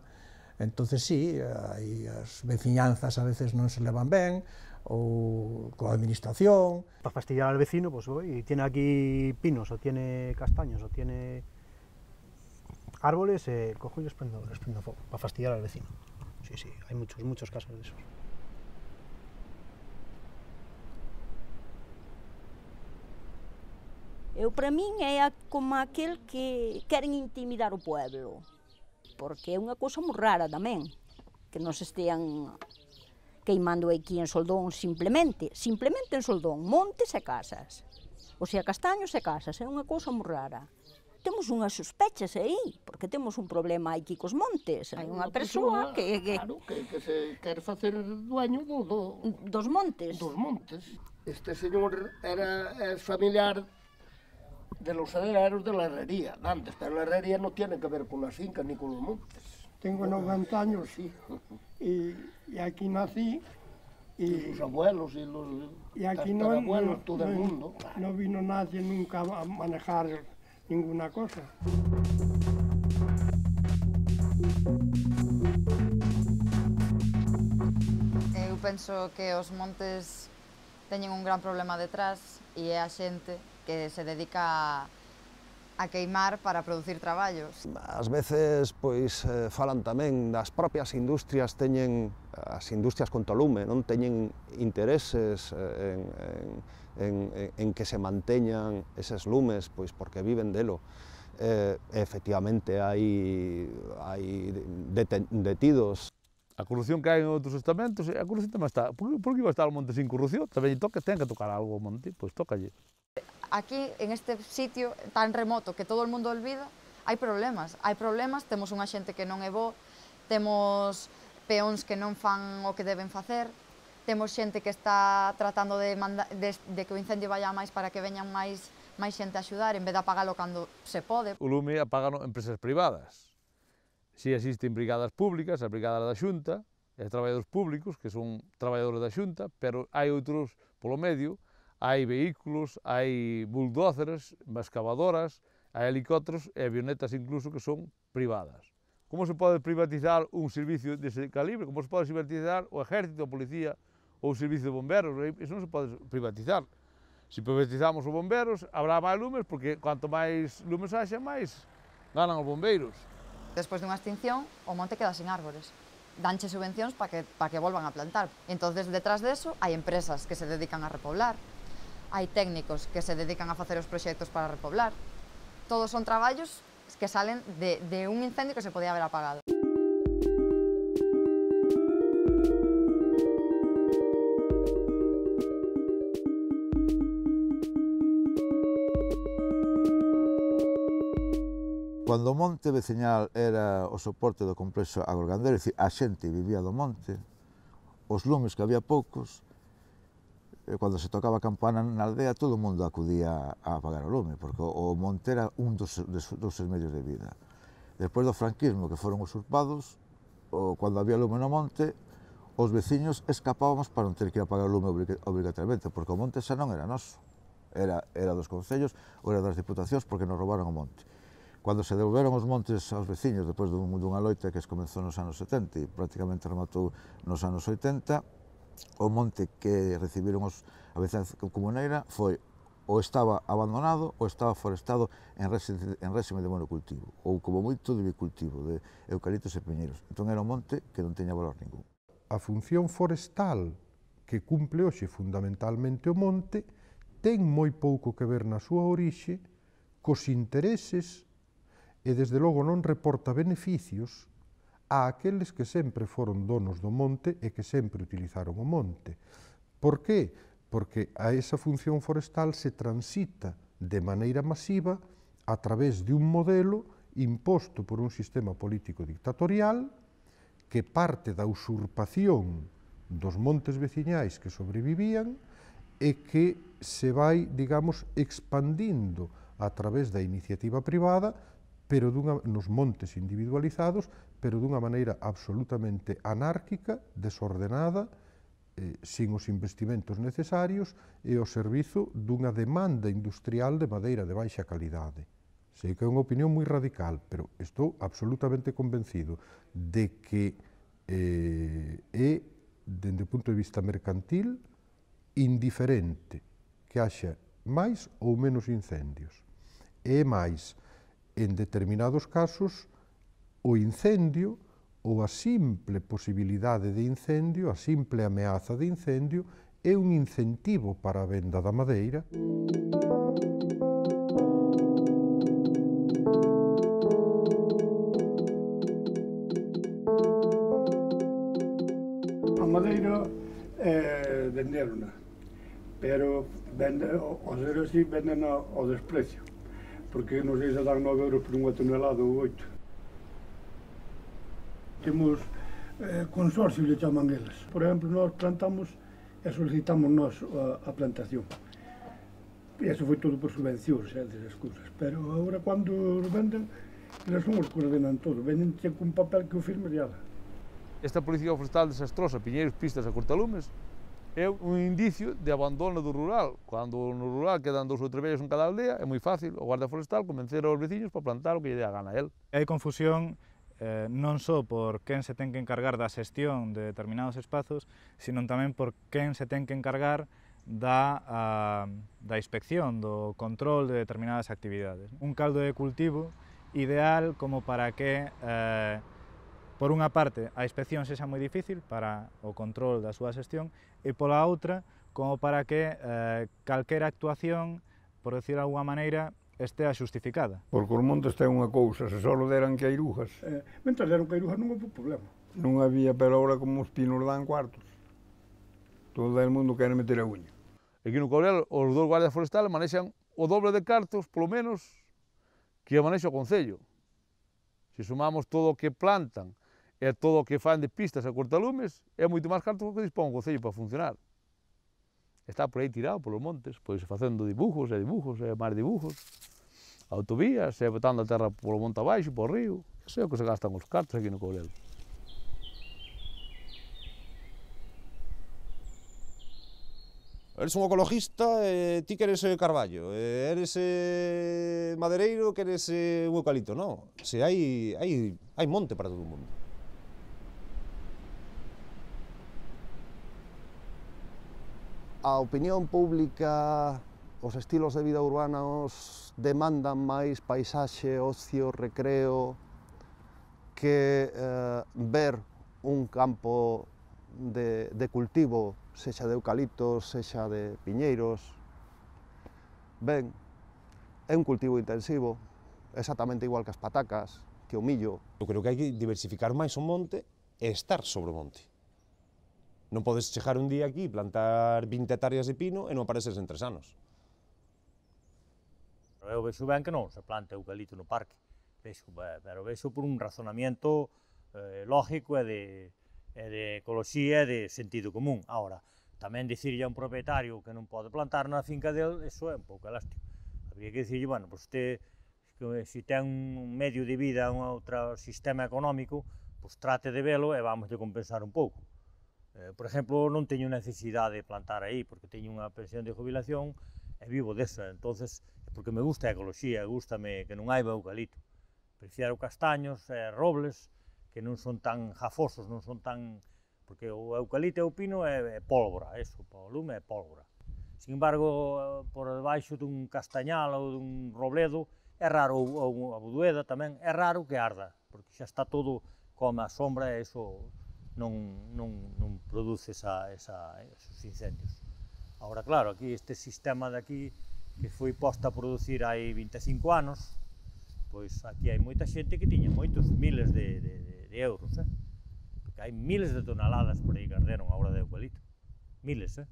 Entonces, sí, aí as veciñanzas a veces non se levan ben, ou coa administración. Para fastidiar al vecino, pues voy, y tiene aquí pinos, o tiene castaños, o tiene árboles, eh, cojo y les prendo, les prendo fuego, para fastidiar al vecino. Sí, sí, hay muchos, muchos casos de esos. Eu, para min, é como aquel que queren intimidar o pueblo, porque é unha cousa moi rara tamén, que nos estean queimando aquí en Soldón simplemente, simplemente en Soldón, montes e casas, o sea, castaños e casas, é unha cousa moi rara. Temos unhas sospechas aí, porque temos un problema aquí cos montes, hai unha persoa que... que... Claro, que, que se quer facer dueño do, do... dos montes. Dos montes. Este señor era é familiar de los herreros de la herrería, antes, pero la herrería no tiene que ver con las fincas ni con los montes. Tengo noventa años, sí, y, y aquí nací. Y, y sus abuelos y los y aquí no, abuelos, no, todo no, el mundo. No vino nadie nunca a manejar ninguna cosa. Eu penso que os montes teñen un gran problema detrás e é a xente que se dedica a queimar para producir traballos. Ás veces, pois, eh, falan tamén das propias industrias, teñen, as industrias con tolume, non teñen intereses en, en, en, en que se manteñan eses lumes, pois porque viven delo. Eh, efectivamente, hai, hai deten, detidos. A corrupción que hai en outros estamentos, a corrupción tamén está. Por, por que iba a estar o monte sin corrupción? Tamén toca, ten que tocar algo o monte, pois tócalle. Aquí, en este sitio tan remoto que todo o mundo olvida, hai problemas. Hai problemas, temos unha xente que non é bo, temos peóns que non fan o que deben facer, temos xente que está tratando de, manda, de, de que o incendio vaya máis para que veñan máis, máis xente a axudar, en vez de apagalo cando se pode. O lume apagano empresas privadas. Si existen brigadas públicas, as brigadas da Xunta, e traballadores públicos, que son traballadores da Xunta, pero hai outros polo medio. Hai vehículos, hai bulldóceres, excavadoras, hai helicópteros e avionetas incluso que son privadas. Como se pode privatizar un servicio dese calibre? Como se pode privatizar o exército, a policía ou o servicio de bomberos? Iso non se pode privatizar. Se privatizamos os bomberos, habrá máis lumes, porque cuanto máis lumes haxa, máis ganan os bombeiros. Despois dunha extinción, o monte queda sin árbores. Danche subvencións para que, pa que volvan a plantar. Entonces, detrás de eso, hai empresas que se dedican a repoblar. Hai técnicos que se dedican a facer os proxectos para repoblar. Todos son traballos que salen de, de un incendio que se podía haber apagado. Cando o monte veciñal era o soporte do complexo agrogandeiro, é dicir, a xente vivía do monte, os lumes que había poucos, cando se tocaba a campana na aldea, todo o mundo acudía a apagar o lume, porque o monte era un dos, dos seus medios de vida. Despois do franquismo, que foron usurpados, o, cando había lume no monte, os veciños escapábamos para non ter que ir a apagar o lume obrigatoriamente, porque o monte xa non era noso, era, era dos concellos ou era das diputacións, porque nos roubaron o monte. Cando se devolveron os montes aos veciños, depois dunha loita que comezou nos anos setenta e prácticamente rematou nos anos oitenta, o monte que recibiron os, a veciñanza comuneira foi ou estaba abandonado ou estaba forestado en réxime, en réxime de monocultivo, ou como moito de bicultivo, de eucaliptos e piñeiros. Entón era un monte que non teña valor ningún. A función forestal que cumple hoxe fundamentalmente o monte ten moi pouco que ver na súa orixe cos intereses e desde logo non reporta beneficios a aqueles que sempre foron donos do monte e que sempre utilizaron o monte. Por que? Porque a esa función forestal se transita de maneira masiva a través de un modelo imposto por un sistema político dictatorial que parte da usurpación dos montes veciñais que sobrevivían e que se vai, digamos, expandindo a través da iniciativa privada, pero dunha, nos montes individualizados, pero dunha maneira absolutamente anárquica, desordenada, eh, sin os investimentos necesarios e ao servizo dunha demanda industrial de madeira de baixa calidade. Sei que é unha opinión moi radical, pero estou absolutamente convencido de que eh, é, dende o punto de vista mercantil, indiferente que haxa máis ou menos incendios. É máis, en determinados casos, o incendio ou a simple posibilidade de incendio, a simple ameaza de incendio, é un incentivo para a venda da madeira. A madeira é venderona, pero vende, ao ser así, venden ao desprecio, porque non sei se dan nove euros por unha tonelada ou oito. Temos eh, consorcios, le chaman eles. Por exemplo, nós plantamos e solicitamos nós a, a plantación. E eso foi todo por subvencións e desas cousas. Pero agora, cando os venden, eles son os que ordenan todo. Venden con papel que o firme de ala. Esta política forestal desastrosa, piñeiros, pistas e cortalumes, é un indicio de abandono do rural. Cando no rural quedan dous ou tres vellos en cada aldea, é moi fácil o guarda forestal convencer aos veciños para plantar o que lle dé a gana a él. Hai confusión eh, non só por quen se ten que encargar da xestión de determinados espazos, sino tamén por quen se ten que encargar da, a, da inspección, do control de determinadas actividades. Un caldo de cultivo ideal como para que, eh, por unha parte, a inspección sexa moi difícil para o control da súa xestión e pola outra, como para que eh, calquera actuación, por decir de alguma maneira, estea xustificada. Porque os montes ten unha cousa, se só deran queirujas. Eh, mentre deran queirujas non houve problema. Non había, pero ahora como os pinos dan cuartos. Todo el mundo quere meter a uña. Aquí no Courel, os dous guardias forestales manexan o doble de cartos, polo menos, que manexa o Concello. Se sumamos todo o que plantan e todo o que fan de pistas e cortalumes, é moito máis cartos que dispón o Concello para funcionar. Está por aí tirado polos montes, pois facendo dibujos e dibujos e máis dibujos, autovías, e botando a terra polo monte abaixo, polo río. Eso é o que se gastan os cartos aquí no Courel. Eres un ecologista e ti queres carballo, e eres eh, madereiro, queres eh, un eucalipto, non? Se hai, hai, hai monte para todo o mundo. A opinión pública, os estilos de vida urbanos demandan máis paisaxe, ocio, recreo, que eh, ver un campo de, de cultivo, sexa de eucaliptos, sexa de piñeiros. Ben, é un cultivo intensivo, exactamente igual que as patacas, que o millo. Eu creo que hai que diversificar máis o monte e estar sobre o monte. Non podes chegar un día aquí, plantar vinte hectáreas de pino e non apareces en tres anos. Eu vexo ben que non se planta eucalipto no parque, vexo, pero vexo por un razonamiento eh, lógico e de, e de ecoloxía e de sentido común. Ahora, tamén dicirlle a un propietario que non pode plantar na finca dele, eso é un pouco elástico. Habría que dicirlle, bueno, pois te, se ten un medio de vida, un outro sistema económico, pois trate de velo e vamos de compensar un pouco. Eh, por exemplo, non teño necesidade de plantar aí, porque teño unha pensión de jubilación e vivo desa, entonces, porque me gusta a ecoloxía, gustame que non haiba eucalipto. Prefiero castaños e robles, que non son tan jafosos, non son tan... porque o eucalipto e o pino é, é pólvora, eso, o lume é pólvora. Sin embargo, por debaixo dun castañal ou dun robledo, é raro, ou a budueda tamén, é raro que arda, porque xa está todo como a sombra e eso non, non, non produce esa, esa, esos incendios. Agora, claro, aquí este sistema de aquí, que foi posto a producir hai vinte e cinco anos, pois aquí hai moita xente que tiña moitos miles de, de, de, de euros, eh? Porque hai miles de toneladas por aí que arderon agora de eucalipto, miles, eh?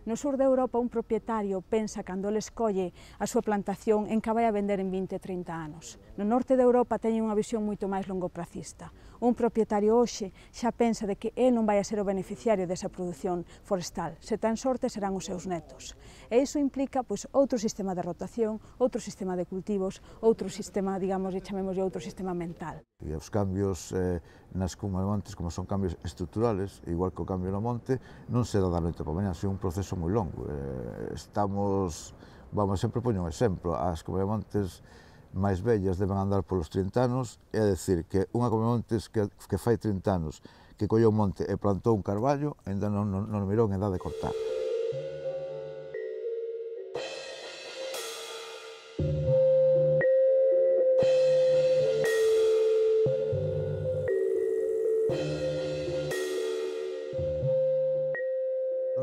No sur de Europa un propietario pensa cando ele escolle a súa plantación en que vai a vender en vinte, trinta anos. No norte de Europa teñen unha visión moito máis longopracista. Un propietario hoxe xa pensa de que ele non vai a ser o beneficiario desa produción forestal. Se ten sorte serán os seus netos. E iso implica pois, outro sistema de rotación, outro sistema de cultivos, outro sistema, digamos, e chamemos outro sistema mental. E os cambios eh, nas cumas montes, como son cambios estruturales, igual que o cambio no monte, non se dá da noite para mañá, é un proceso moi longo. Eh, estamos, vamos, sempre poño un exemplo, as cumas montes máis vellas deben andar polos trinta anos, é dicir, que unha come montes que, que fai trinta anos, que colleu un monte e plantou un carballo, ainda non, non, non mirou en edad de cortar.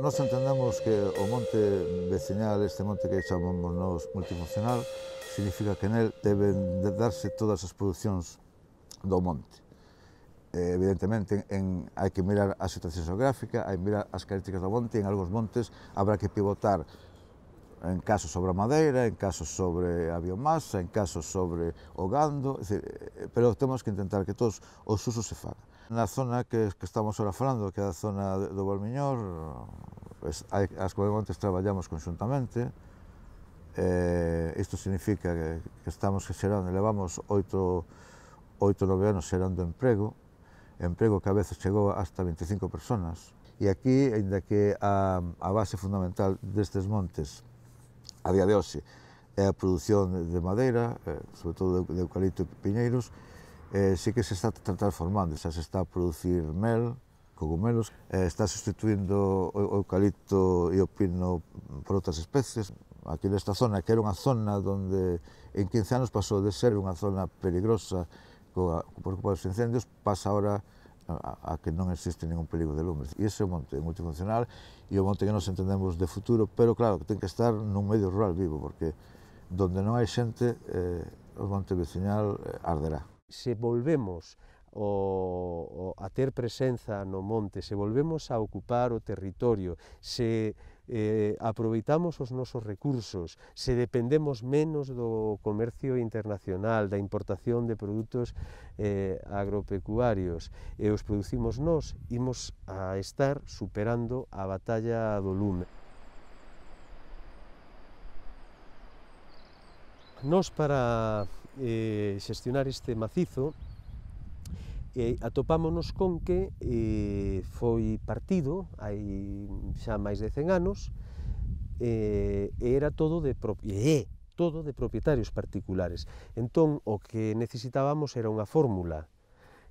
Nós entendemos que o monte veciñal, este monte que chamamos nós multifuncional, significa que nel deben de darse todas as producións do monte. Eh, evidentemente, en, hai que mirar a situación geográfica, hai que mirar as características do monte, e en algúns montes habrá que pivotar en casos sobre a madeira, en casos sobre a biomasa, en casos sobre o gando, é dicir, pero temos que intentar que todos os usos se fagan. Na zona que, que estamos ahora falando, que é a zona do Valmiñor, pues, hai, as comunidades traballamos conxuntamente. Eh, isto significa que, que estamos xerando, levamos oito, oito, nove anos xerando emprego, emprego que a veces chegou hasta veinticinco personas. E aquí, ainda que a, a base fundamental destes montes, a día de hoxe, é a produción de madeira, eh, sobre todo de, de eucalipto e piñeiros, eh, sí que se está transformando, xa se está a producir mel, cogumelos, eh, está sustituindo o eucalipto e o pino por outras especies. Aquí nesta zona, que era unha zona onde en quince anos pasou de ser unha zona peligrosa coa, por culpa dos incendios, pasa ahora a, a que non existe ningún perigo de lumes. E ese é o monte multifuncional e o monte que nos entendemos de futuro, pero claro, que ten que estar nun medio rural vivo, porque donde non hai xente, eh, o monte veciñal eh, arderá. Se volvemos o, o, a ter presenza no monte, se volvemos a ocupar o territorio, se eh, aproveitamos os nosos recursos, se dependemos menos do comercio internacional, da importación de produtos eh, agropecuarios e os producimos nós, imos a estar superando a batalla do lume. Nós, para eh, xestionar este macizo, eh, atopámonos con que eh, foi partido hai xa máis de cen anos eh, e era todo de, e é todo de propietarios particulares. Entón, o que necesitábamos era unha fórmula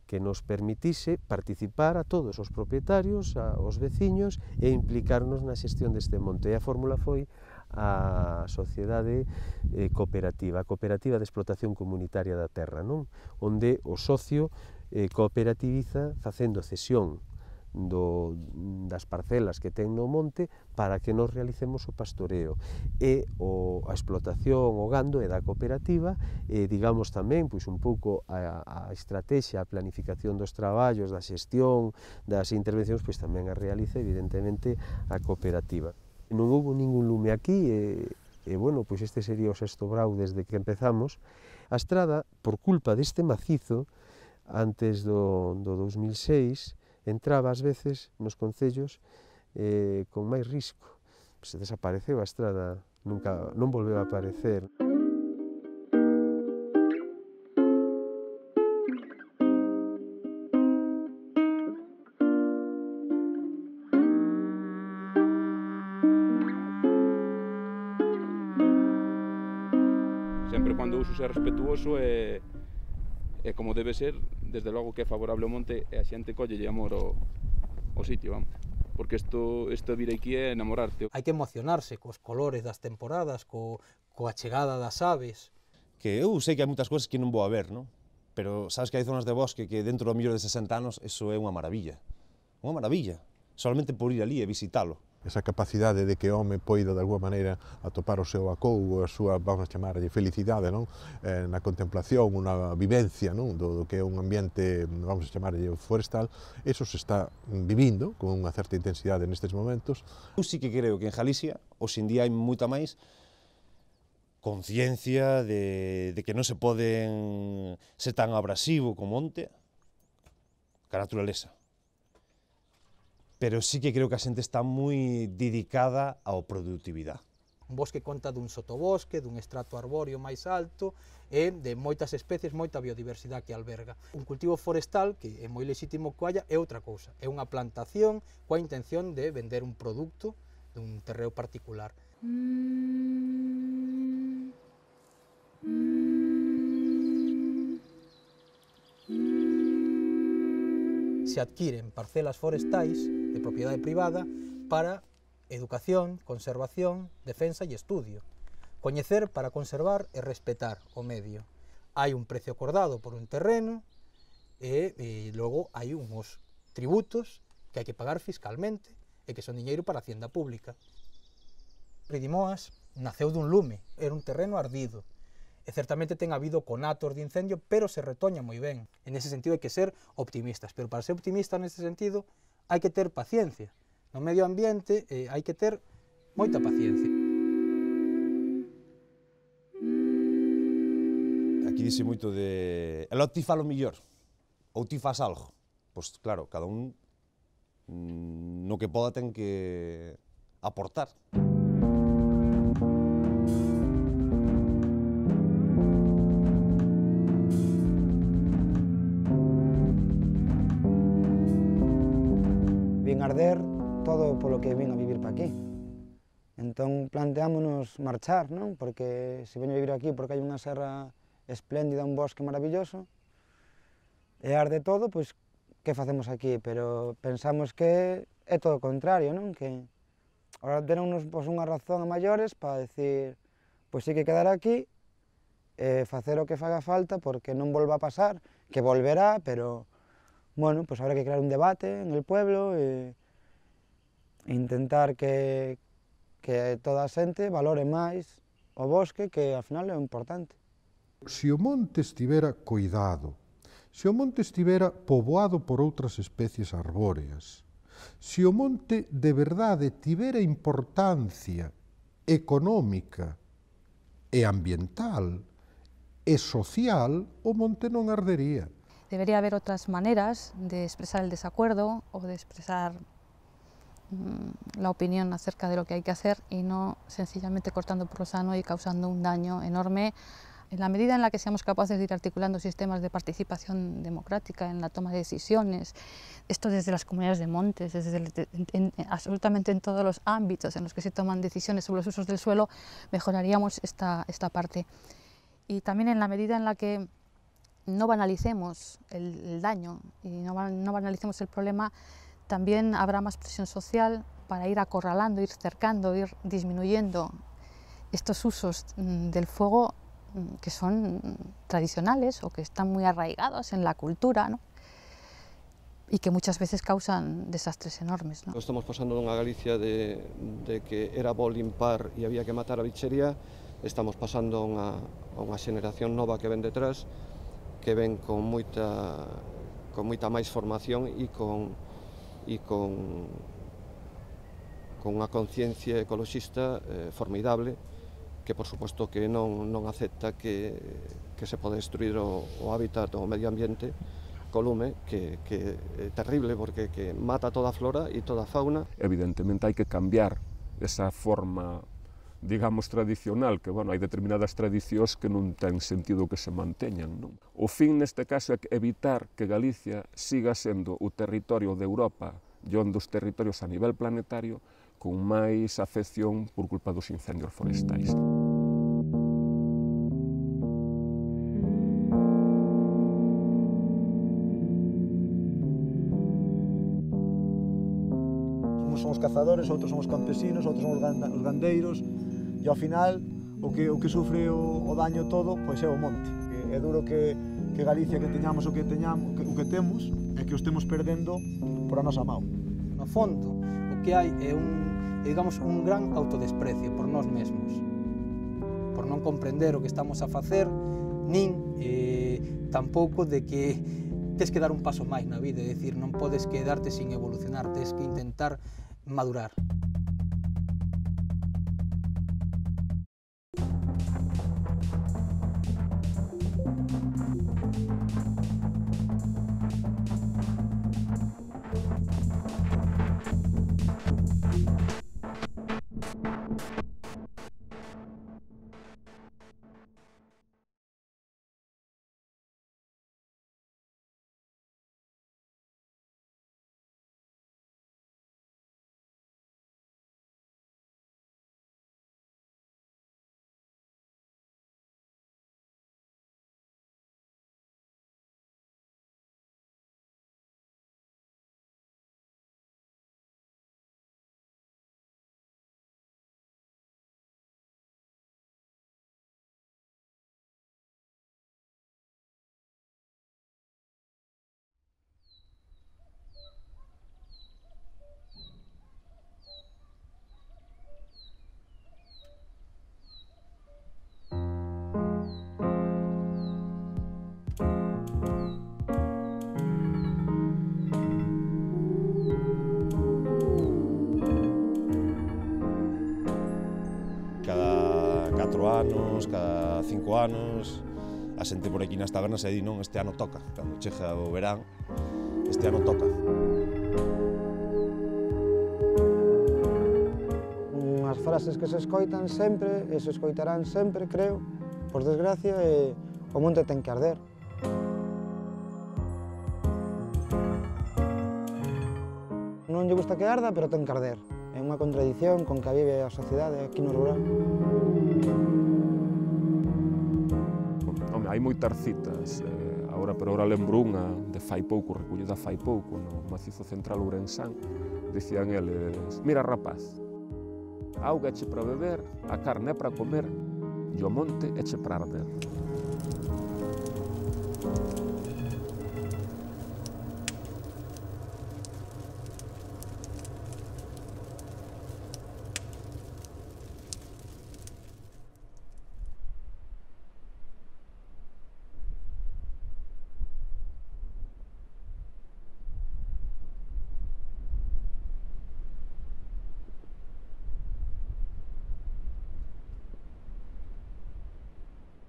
que nos permitise participar a todos os propietarios, aos veciños, e implicarnos na xestión deste monte. E a fórmula foi a sociedade eh, cooperativa, a cooperativa de explotación comunitaria da terra, non? Onde o socio eh, cooperativiza facendo cesión do, das parcelas que ten no monte para que nos realicemos o pastoreo e o, a explotación, o gando é da cooperativa e digamos tamén pois, un pouco a, a estrategia, a planificación dos traballos, da xestión, das intervencións, pois tamén a realiza evidentemente a cooperativa. Non houve ningún lume aquí e, e bueno, pois este sería o sexto brau desde que empezamos. A estrada, por culpa deste macizo, antes do, do dos mil seis, entraba ás veces nos concellos eh, con máis risco. Se desapareceu a estrada, nunca, non volveu a aparecer. Sempre cando o uso é respetuoso e, e como debe ser, desde logo que é favorable ao monte e a xente collelle amor ao, ao sitio, vamos. Porque isto, isto vir aquí é enamorarte. Hai que emocionarse cos colores das temporadas, co, coa chegada das aves. Que eu sei que hai moitas cousas que non vou a ver, non? Pero sabes que hai zonas de bosque que dentro do mellor de sesenta anos eso é unha maravilla. Unha maravilla. Solamente por ir ali e visitalo. Esa capacidade de que o home poida de alguma maneira atopar o seu acougo, a súa, vamos a chamarlle, felicidade, non? Eh, na contemplación, unha vivencia, non? Do, do que é un ambiente, vamos a chamarlle, forestal, eso se está vivindo con unha certa intensidade nestes momentos. Eu sí que creo que en Galicia, hoxe en día, hai moita máis conciencia de, de que non se poden ser tan abrasivo como monte que a naturaleza. Pero sí que creo que a xente está moi dedicada á productividade. Un bosque conta dun sotobosque, dun estrato arbóreo máis alto e de moitas especies, moita biodiversidade que alberga. Un cultivo forestal, que é moi lexítimo que haya, é outra cousa. É unha plantación coa intención de vender un produto dun terreo particular. Se adquiren parcelas forestais de propiedade privada para educación, conservación, defensa e estudio. Coñecer para conservar e respetar o medio. Hai un precio acordado por un terreno e, e logo hai uns tributos que hai que pagar fiscalmente e que son diñeiro para a hacienda pública. Ridimoas naceu dun lume, era un terreno ardido. E certamente ten habido conatos de incendio, pero se retoña moi ben. En ese sentido hai que ser optimistas, pero para ser optimista nese sentido hai que ter paciencia. No medio ambiente eh, hai que ter moita paciencia. Aquí dice moito de... El ti fa lo millor, ou ti fas algo. Pois claro, cada un no que poda ten que aportar. Vin arder todo polo que vino a vivir para aquí. Entón planteámonos marchar, non? Porque se veño a vivir aquí porque hai unha serra espléndida, un bosque maravilloso, e arde todo, pois que facemos aquí? Pero pensamos que é todo o contrario, non? Que ahora tenemos pois, unha razón a maiores para decir, pois sí que quedar aquí e facer o que faga falta porque non volva a pasar, que volverá, pero bueno, pues habrá que crear un debate en el pueblo e intentar que, que toda a xente valore máis o bosque, que ao final é o importante. Se o monte estivera coidado, se o monte estivera poboado por outras especies arbóreas, se o monte de verdade tivera importancia económica e ambiental e social, o monte non ardería. Debería haber otras maneras de expresar el desacuerdo o de expresar mmm, la opinión acerca de lo que hay que hacer y no sencillamente cortando por lo sano y causando un daño enorme. En la medida en la que seamos capaces de ir articulando sistemas de participación democrática en la toma de decisiones, esto desde las comunidades de montes, desde el, en, en, absolutamente en todos los ámbitos en los que se toman decisiones sobre los usos del suelo, mejoraríamos esta, esta parte. Y también en la medida en la que no banalicemos el, el daño y no, no banalicemos el problema, también habrá más presión social para ir acorralando, ir cercando, ir disminuyendo estos usos del fuego que son tradicionales o que están muy arraigados en la cultura, ¿no? Y que muchas veces causan desastres enormes, ¿no? Estamos pasando dunha Galicia de, de que era bo limpar e había que matar a bichería, estamos pasando a unha, a unha xeneración nova que ven detrás, que ven con moita, con moita máis formación e con, e con, con unha conciencia ecoloxista eh, formidable, que por suposto que non, non acepta que, que se pode destruir o, o hábitat o medio ambiente co lume, que, que é terrible porque que mata toda a flora e toda a fauna. Evidentemente hai que cambiar esa forma, digamos, tradicional, que, bueno, hai determinadas tradicións que non ten sentido que se manteñan, non? O fin, neste caso, é evitar que Galicia siga sendo o territorio de Europa e un dos territorios a nivel planetario con máis afección por culpa dos incendios forestais. Uns son os cazadores, outros son os campesinos, outros son os gandeiros, e ao final o que, o que sufre o, o daño todo pois é o monte. É, é duro que, que Galicia que teñamos o que teñamos, que, o que temos, e que o estemos perdendo por a nosa mão. No fondo, o que hai é un, digamos, un gran autodesprecio por nós mesmos, por non comprender o que estamos a facer, nin eh, tampouco de que tes que dar un paso máis na vida, é dicir, non podes quedarte sin evolucionar, tes que intentar madurar. catro anos, cada cinco anos, a xente por aquí nas tabernas e di non, este ano toca, cando chega o verán, este ano toca. Unhas frases que se escoitan sempre, e se escoitarán sempre, creo, por desgracia, e o monte ten que arder. Non lle gusta que arda, pero ten que arder. É unha contradición con que vive a sociedade aquí no rural. Home, hai moitas citas, eh, agora pero agora lembro unha de fai pouco, recollida fai pouco, no macizo central ourensán, dicían eles, mira rapaz, a auga eche para beber, a carne é para comer, e o monte eche para arder.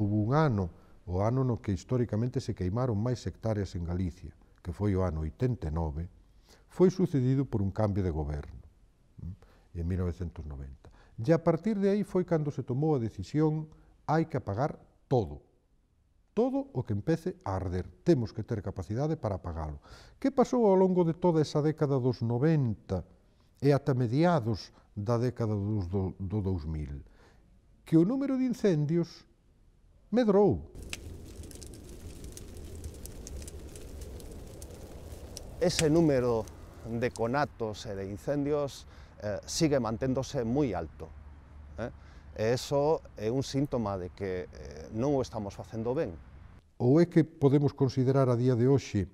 Hubo un ano, o ano no que históricamente se queimaron máis hectáreas en Galicia, que foi o ano oitenta e nove, foi sucedido por un cambio de goberno, en mil novecentos noventa. E a partir de aí foi cando se tomou a decisión, hai que apagar todo. Todo o que empece a arder. Temos que ter capacidade para apagalo. Que pasou ao longo de toda esa década dos noventa e ata mediados da década dos do, do dous mil? Que o número de incendios medrou. Ese número de conatos e de incendios eh, sigue manténdose moi alto. Eh? E iso é un síntoma de que eh, non o estamos facendo ben. Ou é que podemos considerar a día de hoxe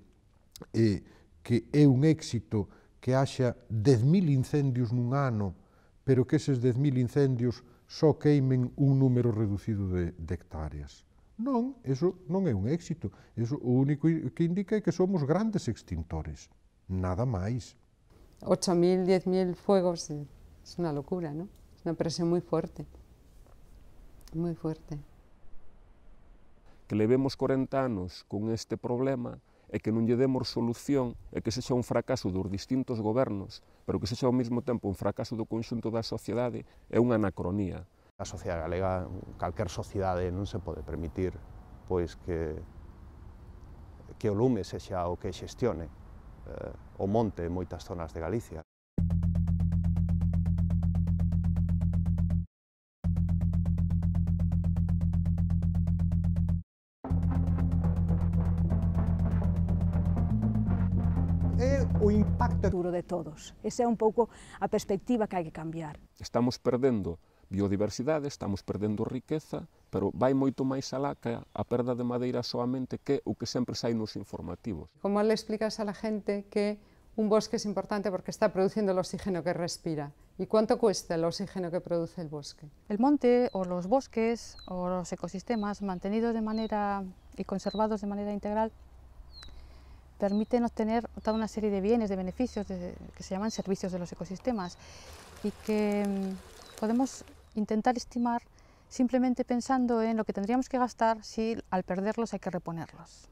eh, que é un éxito que haxa dez mil incendios nun ano, pero que eses dez mil incendios só queimen un número reducido de, de hectáreas. Non, eso non é un éxito. Eso o único que indica é que somos grandes extintores. Nada máis. ocho mil, diez mil fuegos es una locura, ¿no? Es una presión muy fuerte. Muy fuerte. Que levemos corenta anos con este problema e que non lle demos solución e que sexa un fracaso dos distintos gobernos, pero que sexa ao mesmo tempo un fracaso do conxunto da sociedade, é unha anacronía. A sociedade galega, calquer sociedade, non se pode permitir pois que, que o lume sexa o que xestione eh, o monte en moitas zonas de Galicia. É o impacto duro de todos. Esa é un pouco a perspectiva que hai que cambiar. Estamos perdendo biodiversidade, estamos perdendo riqueza, pero vai moito máis alá que a perda de madeira soamente que o que sempre sai nos informativos. ¿Cómo le explicas a la gente que Un bosque es importante porque está produciendo el oxígeno que respira. ¿Y cuánto cuesta el oxígeno que produce el bosque? El monte o los bosques o los ecosistemas mantenidos de manera y conservados de manera integral permiten obtener toda una serie de bienes, de beneficios de, que se llaman servicios de los ecosistemas y que mmm, podemos intentar estimar simplemente pensando en lo que tendríamos que gastar si al perderlos hay que reponerlos.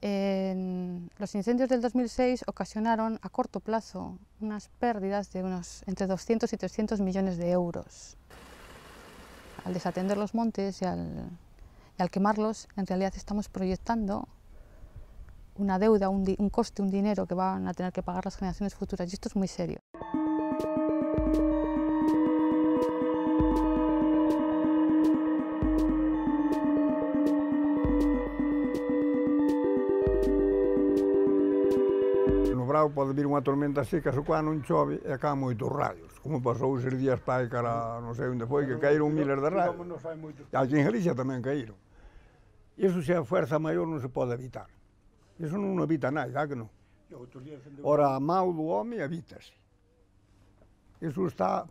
En los incendios del dos mil seis ocasionaron a corto plazo unas pérdidas de unos entre doscientos y trescientos millones de euros. Al desatender los montes y al, y al quemarlos, en realidad estamos proyectando una deuda, un, un coste, un dinero que van a tener que pagar las generaciones futuras, y esto es muy serio. No brao pode vir unha tormenta seca, se coa non chove e caen moitos rayos, como pasou eses días pai cara non sei onde foi, que caíron miles de rayos. E aquí en Galicia tamén caíron. Iso se a fuerza maior non se pode evitar. Iso non evita nada, que non? Ora, a mau do home evítase. Iso está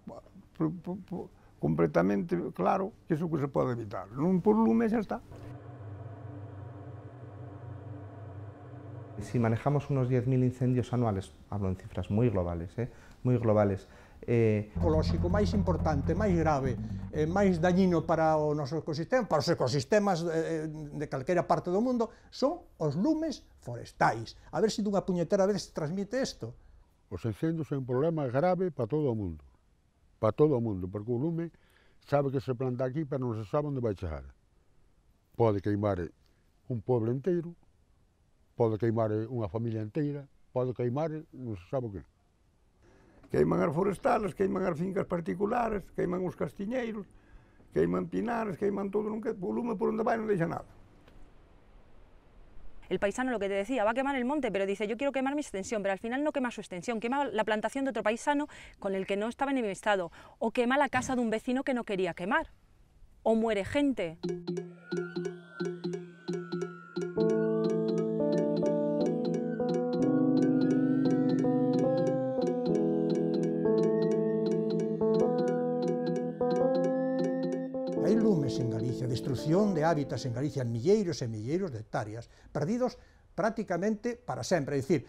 completamente claro que iso que se pode evitar. Non por lume xa está. Si manejamos unos diez mil incendios anuales, hablo en cifras muy globales, ¿eh? muy globales, eh... ecolóxico máis importante, máis grave, eh, máis dañino para o noso ecosistema, para os ecosistemas eh, de calquera parte do mundo, son os lumes forestais. A ver se dunha puñetera vez se transmite isto. Os incendios son un problema grave para todo o mundo, para todo o mundo, porque o lume sabe que se planta aquí, pero non se sabe onde vai chegar. Pode queimar un pueblo inteiro, pode queimar unha familia inteira, pode queimar, non se sabe o que. Queiman as forestales, queiman as fincas particulares, queiman os castiñeiros, queiman pinares, queiman todo, non que, o lume por onde vai non deixa nada. El paisano, lo que te decía, va a quemar el monte, pero dice, yo quiero quemar mi extensión, pero al final no quema su extensión, quema la plantación de otro paisano con el que no estaba enemistado, o quema la casa de un vecino que no quería quemar, o muere gente. Hai lumes en Galicia, destrucción de hábitats en Galicia, en milleiros e milleiros de hectáreas, perdidos prácticamente para sempre, é dicir,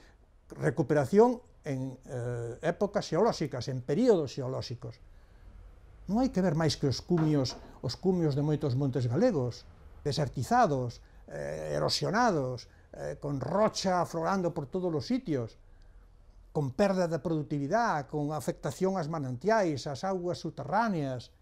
recuperación en eh, épocas xeolóxicas, en períodos xeolóxicos. Non hai que ver máis que os cumios, os cumios de moitos montes galegos, desertizados, eh, erosionados, eh, con rocha aflorando por todos os sitios, con perda de productividade, con afectación ás manantiais, ás augas subterráneas.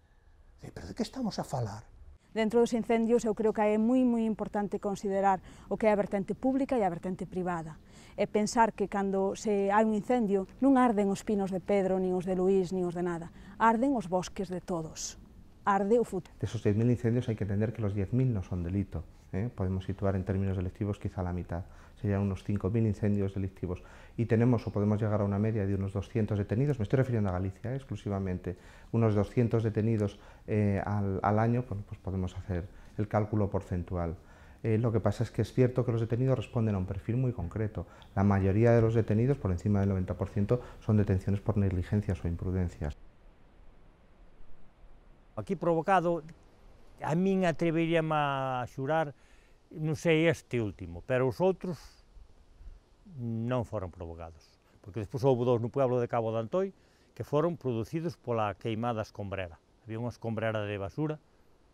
Pero de que estamos a falar? Dentro dos incendios eu creo que é moi moi importante considerar o que é a vertente pública e a vertente privada. E pensar que cando se hai un incendio non arden os pinos de Pedro, nin os de Luís, nin os de nada. Arden os bosques de todos. Arde o futuro. De esos diez mil incendios hai que entender que los diez mil no son delito. ¿eh? Podemos situar en términos delictivos quizá la mitad. Serían unos cinco mil incendios delictivos. Y tenemos o podemos llegar a una media de unos doscientos detenidos, me estoy refiriendo a Galicia ¿eh? exclusivamente, unos doscientos detenidos eh, al, al año, pues, pues podemos hacer el cálculo porcentual. Eh, lo que pasa es que es cierto que los detenidos responden a un perfil muy concreto. La mayoría de los detenidos, por encima del noventa por ciento, son detenciones por negligencias o imprudencias. Aquí provocado, a min atreveríame a xurar, non sei este último, pero os outros non foron provocados, porque despois houve dous no pueblo de Cabo de Antoi que foron producidos pola queimada escombrera. Había unha escombrera de basura,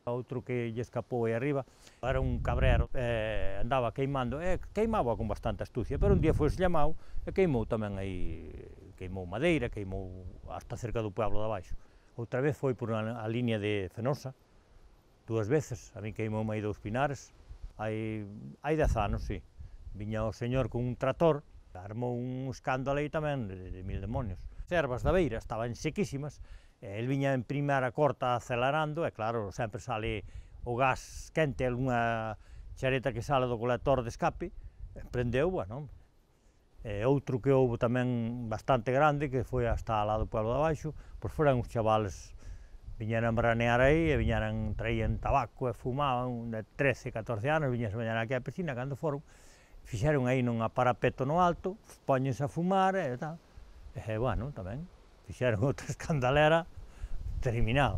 outro que lle escapou aí arriba, era un cabrero, eh, andaba queimando, e eh, queimaba con bastante astucia, pero un día foi llamado e queimou tamén aí, queimou madeira, queimou hasta cerca do pueblo de abaixo. Outra vez foi por a línea de Fenosa, dúas veces, a mí queimou aí dous pinares, hai, hai dez anos, sí. Viña o señor con un trator, armou un escándalo aí tamén de, de mil demonios. As ervas da beira estaban sequísimas, e el viña en primeira corta acelerando, e claro, sempre sale o gas quente, algunha chareta que sale do colector de escape, e prendeu, bueno. E outro que houve tamén bastante grande, que foi hasta lá do pueblo de abaixo, pois foran os chavales viñeran branear aí, e viñeran, traían tabaco e fumaban de trece, catorce anos, viñeran a bañar aquí á piscina, cando foron, fixeron aí nunha parapeto no alto, poñense a fumar e tal. E, bueno, tamén, fixeron outra escandalera terminado.